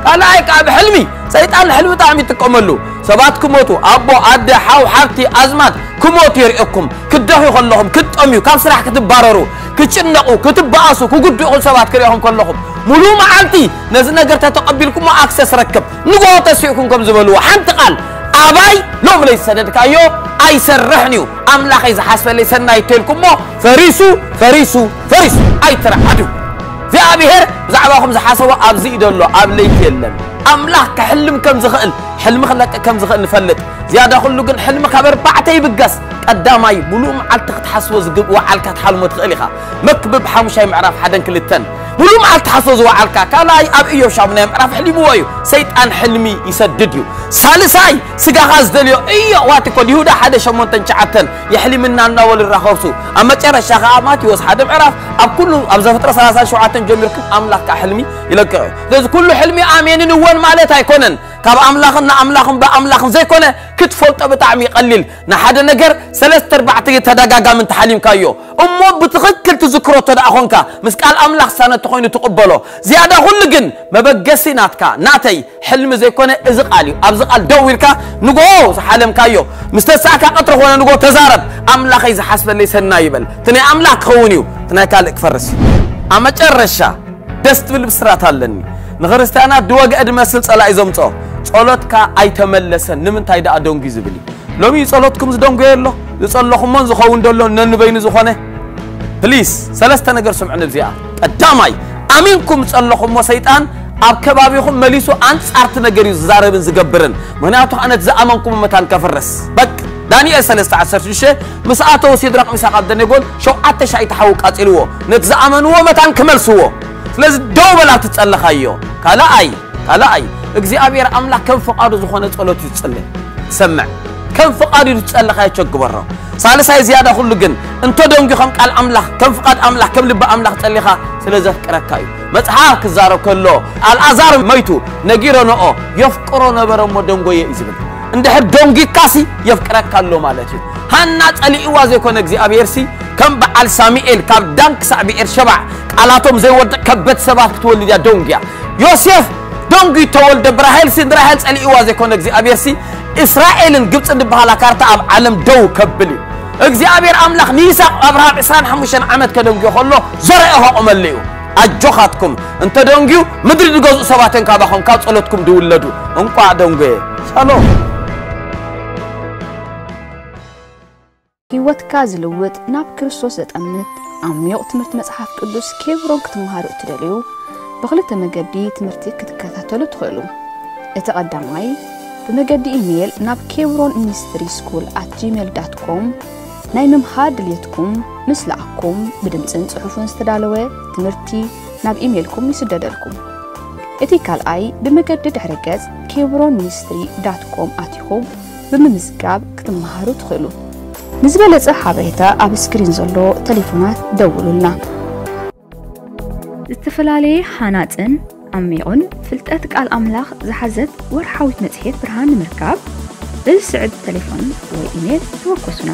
ካልኣይ ከኣ ብሕልሚ፣ ሰይጣን ንሕልሚ ብጣዕሚ ይጥቀመሉ። ሰባት ክሞቱ፣ ኣቦ፣ ኣደ፣ ሓው፣ ሓብቲ፣ ኣዝማድ ክሞቱ የርእየኩም። ክትደኽዩ ከለኹም፣ ክትጠምዩ፣ ካብ ስራሕ ክትባረሩ፣ ክጭነቑ፣ ክትበኣሱ፣ ክጉድኡኹም ሰባት ክርእኹም ከለኹም፣ ሙሉእ መዓልቲ ነዚ ነገር ተተቐቢልኩሞ ኣክሰስ ረክብ። ንግሆ ተሲእኩም ከም ዝበልዎ፣ ሓንቲ ቃል፣ ኣባይ ሎም ለይሰደድካዮ ኣይሰርሕን እዩ። ኣምላኸይ ዝሓስበለይ ሰናይ ተልኩሞ፣ ፈሪሱ፣ ፈሪሱ፣ ፈሪሱ። ኣይትርዓዱ። እግዚኣብሔር ብዛዕባኹም ዝሓሰቦ ኣብዚ እዩ ዘሎ፣ ኣብ ለይቲ የለን። ኣምላኽ ክሕልም ከም ዝኽእል፣ ሕልሚ ክለቅቕ ከም ዝኽእል ንፈልጥ። ዝያዳ ኩሉ ግን ሕልሚ ካብ ኣርባዕተ ይብገስ። ቀዳማይ፣ ሙሉእ መዓልቲ ክትሓስቦ ዝግብ-፣ ወዓልካ ትሓልሞ ትኽእል ኢኻ። መክብብ ሓሙሻይ ምዕራፍ ሓደን ክልተን። ኩሉ መዓልቲ ሓሶ ዝወዓልካ። ካልኣይ ኣብ ኢዮብ ሻሙናይ ምዕራፍ ሕሊምዎ እዩ። ሰይጣን ሕልሚ ይሰድድ እዩ። ሳልሳይ ስጋኻ ዝደልዮ እዮ ዋቲ ኮድ ይሁዳ ሓደ ሸሞንተን ትሽዓተን የሕሊምና እናበሉ ይራኸብሱ። ኣብ መጨረሻ ከዓ ማቴዎስ ሓደ ምዕራፍ ኣብ ኩሉ ኣብ ዘፍጥረት ሰላሳ ሸውዓተ ጀሚርኩም ኣምላኽ ከዓ ሕልሚ ይለቅቕ እዩ። ስለዚ ኩሉ ሕልሚ ኣሜንን እወን ማለት ኣይኮነን። ካብ ኣምላኽን ንኣምላኽን ብኣምላኽን ዘይኮነ ክትፈልጦ ብጣዕሚ ይቐሊል። ንሓደ ነገር ሰለስተ ኣርባዕተ ተደጋጋሚ እንተሓሊምካዮ እሞ ብትኽክል ትዝክሮ እተ ደኣ ኾንካ ምስ ቃል ኣምላኽ ሳነ ተኾይኑ ትቕበሎ። ዝያዳ ኩሉ ግን መበገሲ ናትካ ናተይ ሕልሚ ዘይኮነ እዚ ቃል እዩ። ኣብዚ ቃል ደው ኢልካ ንጎ ዝሓለምካዮ ምስ ተሳእካ ቀትሪ ኾነ ንጎ ተዛረብ። ኣምላኸይ ዝሓስበለይ ሰናይ ይበል። እቲ ናይ ኣምላኽ ክኸውን እዩ፣ እቲ ናይ ካልእ ክፈርስ እዩ። ኣብ መጨረሻ ደስ ትብል ብስራት ኣለኒ። ንክርስትያናት ድወግአ ድመስል ጸላኢ ዘምጾ ጸሎትካ ኣይተመለሰን ንምንታይ ደኣ ደንጉ ዝብል እዩ። ሎሚ ጸሎትኩም ዝደንጉየ ኣሎ ዝጸለኹሞን ዝኸውን ደሎ ነንበይኑ ዝኾነ ፕሊስ ሰለስተ ነገር ስምዑ። ንብዚኣ ቀዳማይ ኣሚንኩም ጸለኹሞ ሰይጣን ኣብ ከባቢኹም መሊሱ ኣንጻርቲ ነገር እዩ ዝዛረብን ዝገብርን። ምክንያቱ ኣነት ዝኣመንኩም መታን ከፍርስ በቅ ዳንኤል ሰለስተ ዓሰርተ ሽዱሽተ ምስ ኣተው ሲድራቅ ሚሳቅ ኣብደኔጎን ሸውዓተ ሻይ ተሓው ቃጺልዎ ነቲ ዝኣመንዎ መታን ክመልስዎ። ስለዚ ደው በላ ትጸለኻዮ ካልኣይ ካልኣይ እግዚኣብሔር ኣምላኽ ከም ፍቓዱ ዝኾነ ጸሎት እዩ ዝጽልእ ትሰምዕ። ከም ፍቓዱ እዩ ዝጸለኻዮ ቸግበሮ። ሳልሳይ ዝያዳ ኩሉ ግን እንተ ደንጉ ከም ቃል ኣምላኽ ከም ፍቓድ ኣምላኽ ከም ልቢ ኣምላኽ ጸሊኻ ስለ ዘፍቅረካ እዩ። መጽሓፍ ክዛረብ ከሎ ኣልኣዛር መይቱ ነጊረንኦ የፍቅሮ ነበረ እሞ ደንጎየ እዩ ዝብል። እንድሕር ደንጊካሲ የፍቅረካ ኣሎ ማለት እዩ። ሃና ጸሊእዋ ዘይኮነ እግዚኣብሔር ሲ ከም በዓል ሳሙኤል ካብ ዳን ክሳዕ ብኤር ሸባዕ ቃላቶም ዘይወድቕ ከበድ ሰባት ክትወልድ እያ ደንጉያ። ዮሴፍ ደንጉ ተወልደ ብራሄል ሲ ንራሄል ጸሊእዋ ዘይኮነ እግዚኣብሔር ሲ እስራኤልን ግብጽን ዝበሃላ ካርታ ኣብ ዓለም ደው ከብል እዩ። እግዚኣብሔር ኣምላኽ ንይስሐቅ ኣብርሃም ዕስራን ሓሙሽተን ዓመት ከደንጉዮ ከሎ ዘርአ ከቆመሉ እዩ። ኣጆኻትኩም እንተ ደንጉዩ ምድሪ ዝገዝኡ ሰባት እዮም ካባኹም ካብ ጸሎትኩም ድውለዱ። እንቋዕ ደንጎየ። ሻሎም። ህይወትካ ዝልውጥ ናብ ክርስቶስ ዘጠምት ዓሚቕ ትምህርቲ መጽሓፍ ቅዱስ ኬብሮን ክትመሃሩ እትደልዩ ብኽልተ መገዲ ትምህርቲ ክትከታተሉ ትኽእሉ። እቲ ቀዳማይ ብመገዲ ኢሜይል ናብ ኬብሮን ሚኒስትሪ ስኩል ኣት ጂሜል ዳት ኮም ናይ ምምሃር ድልየትኩም ምስ ለኣኩም ብድምፅን ፅሑፍን ዝተዳለወ ትምህርቲ ናብ ኢሜይልኩም ይስደደልኩም። እቲ ካልኣይ ብመገዲ ድሕረ ገጽ ኬብሮን ሚኒስትሪ ዳት ኮም ኣቲኹም ብምምዝጋብ ክትመሃሩ ትኽእሉ። ንዝበለጸ ሓበሬታ ኣብ ስክሪን ዘሎ ቴሌፎናት ደውሉልና። ዝተፈላለየ ሃናጽን ዓሚቑን ፍልጠት ቃል ኣምላኽ ዝሓዘት ወርሓዊት መጽሔት ብርሃን ንምርካብ በዚ ስዕብ ቴሌፎን ወይ ኢሜል ተወከሱና።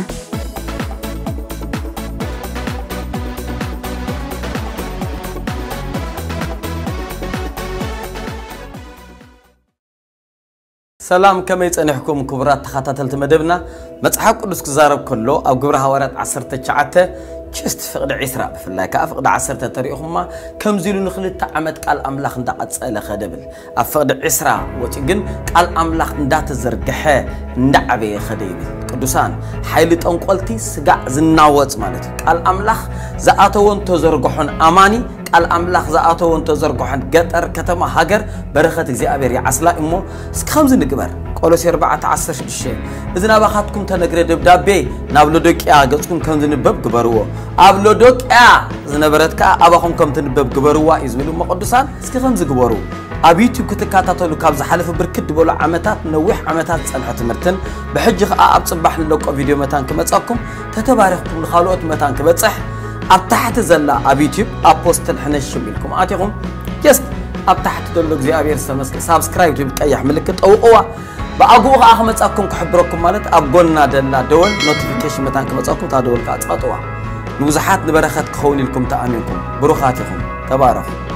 ሰላም፣ ከመይ ጸኒሕኩም ክቡራት ተኸታተልቲ መደብና? መጽሓፍ ቅዱስ ክዛረብ ከሎ ኣብ ግብረ ሃዋርያት ዓሰርተ ትሽዓተ ችስት ፍቕዲ ዒስራ ብፍላይ ከኣ ፍቕዲ ዓሰርተ ተሪእኹማ ከምዚ ኢሉ ንኽልተ ዓመት ቃል ኣምላኽ እንዳቐጸለ ኸደ ብል። ኣብ ፍቕዲ ዒስራ ወጺኡ ግን ቃል ኣምላኽ እንዳተዘርግሐ እንዳዓበየ ኸደ ይብል። ቅዱሳን፣ ሓይሊ ጠንቆልቲ ስጋዕ ዝናወጽ ማለት እዩ። ቃል ኣምላኽ ዝኣተወን ተዘርግሖን ኣማኒ ቃል ኣምላኽ ዝኣተወን ተዘርግሖን ገጠር ከተማ ሃገር በረኸት እግዚኣብሔር ይዓስላ እሞ እስኪ ከምዚ ንግበር። ቆሎሴ ኣርባዕተ ዓሰርተ ሽዱሽተ እዚ ናባኻትኩም ተነግረ ደብዳቤ ናብ ሎዶቅያ ገጽኩም ከም ዝንበብ ግበርዎ። ኣብ ሎዶቅያ ዝነበረት ከኣ ኣባኹም ከም ትንበብ ግበርዋ እዩ ዝብል እሞ ቅዱሳን እስኪ ከምዚ ግበሩ። ኣብ ዩቲዩብ ክትከታተሉ ካብ ዝሓለፈ ብርክት ዝበሉ ዓመታት ነዊሕ ዓመታት ዝጸንሐ ትምህርትን ብሕጂ ከኣ ኣብ ጽባሕ ንለቆ ቪድዮ መታን ክመጻኩም ተተባሪኽኩም ንኻልኦት መታን ክበጽሕ ኣብ ታሕቲ ዘላ ኣብ ዩቲዩብ ኣፖስትል ሕነሽ ሽም ኢልኩም ኣቲኹም ጀስት ኣብ ታሕቲ ዘሎ እግዚኣብሔር ዝተመስገ ሳብስክራይብ ትብል ቀያሕ ምልክት ጠውቕዋ። ብኣግኡ ከዓ ክመጻኩም ክሕብረኩም ማለት ኣብ ጎና ደላ ደወል ኖቲፊኬሽን መታን ክመጻኩም እታ ደወል ከዓ ጸቕጥዋ። ንብዙሓት ንበረኸት ክኸውን ኢልኩም ተኣሚንኩም ብሩኻት ኢኹም። ተባረኹ።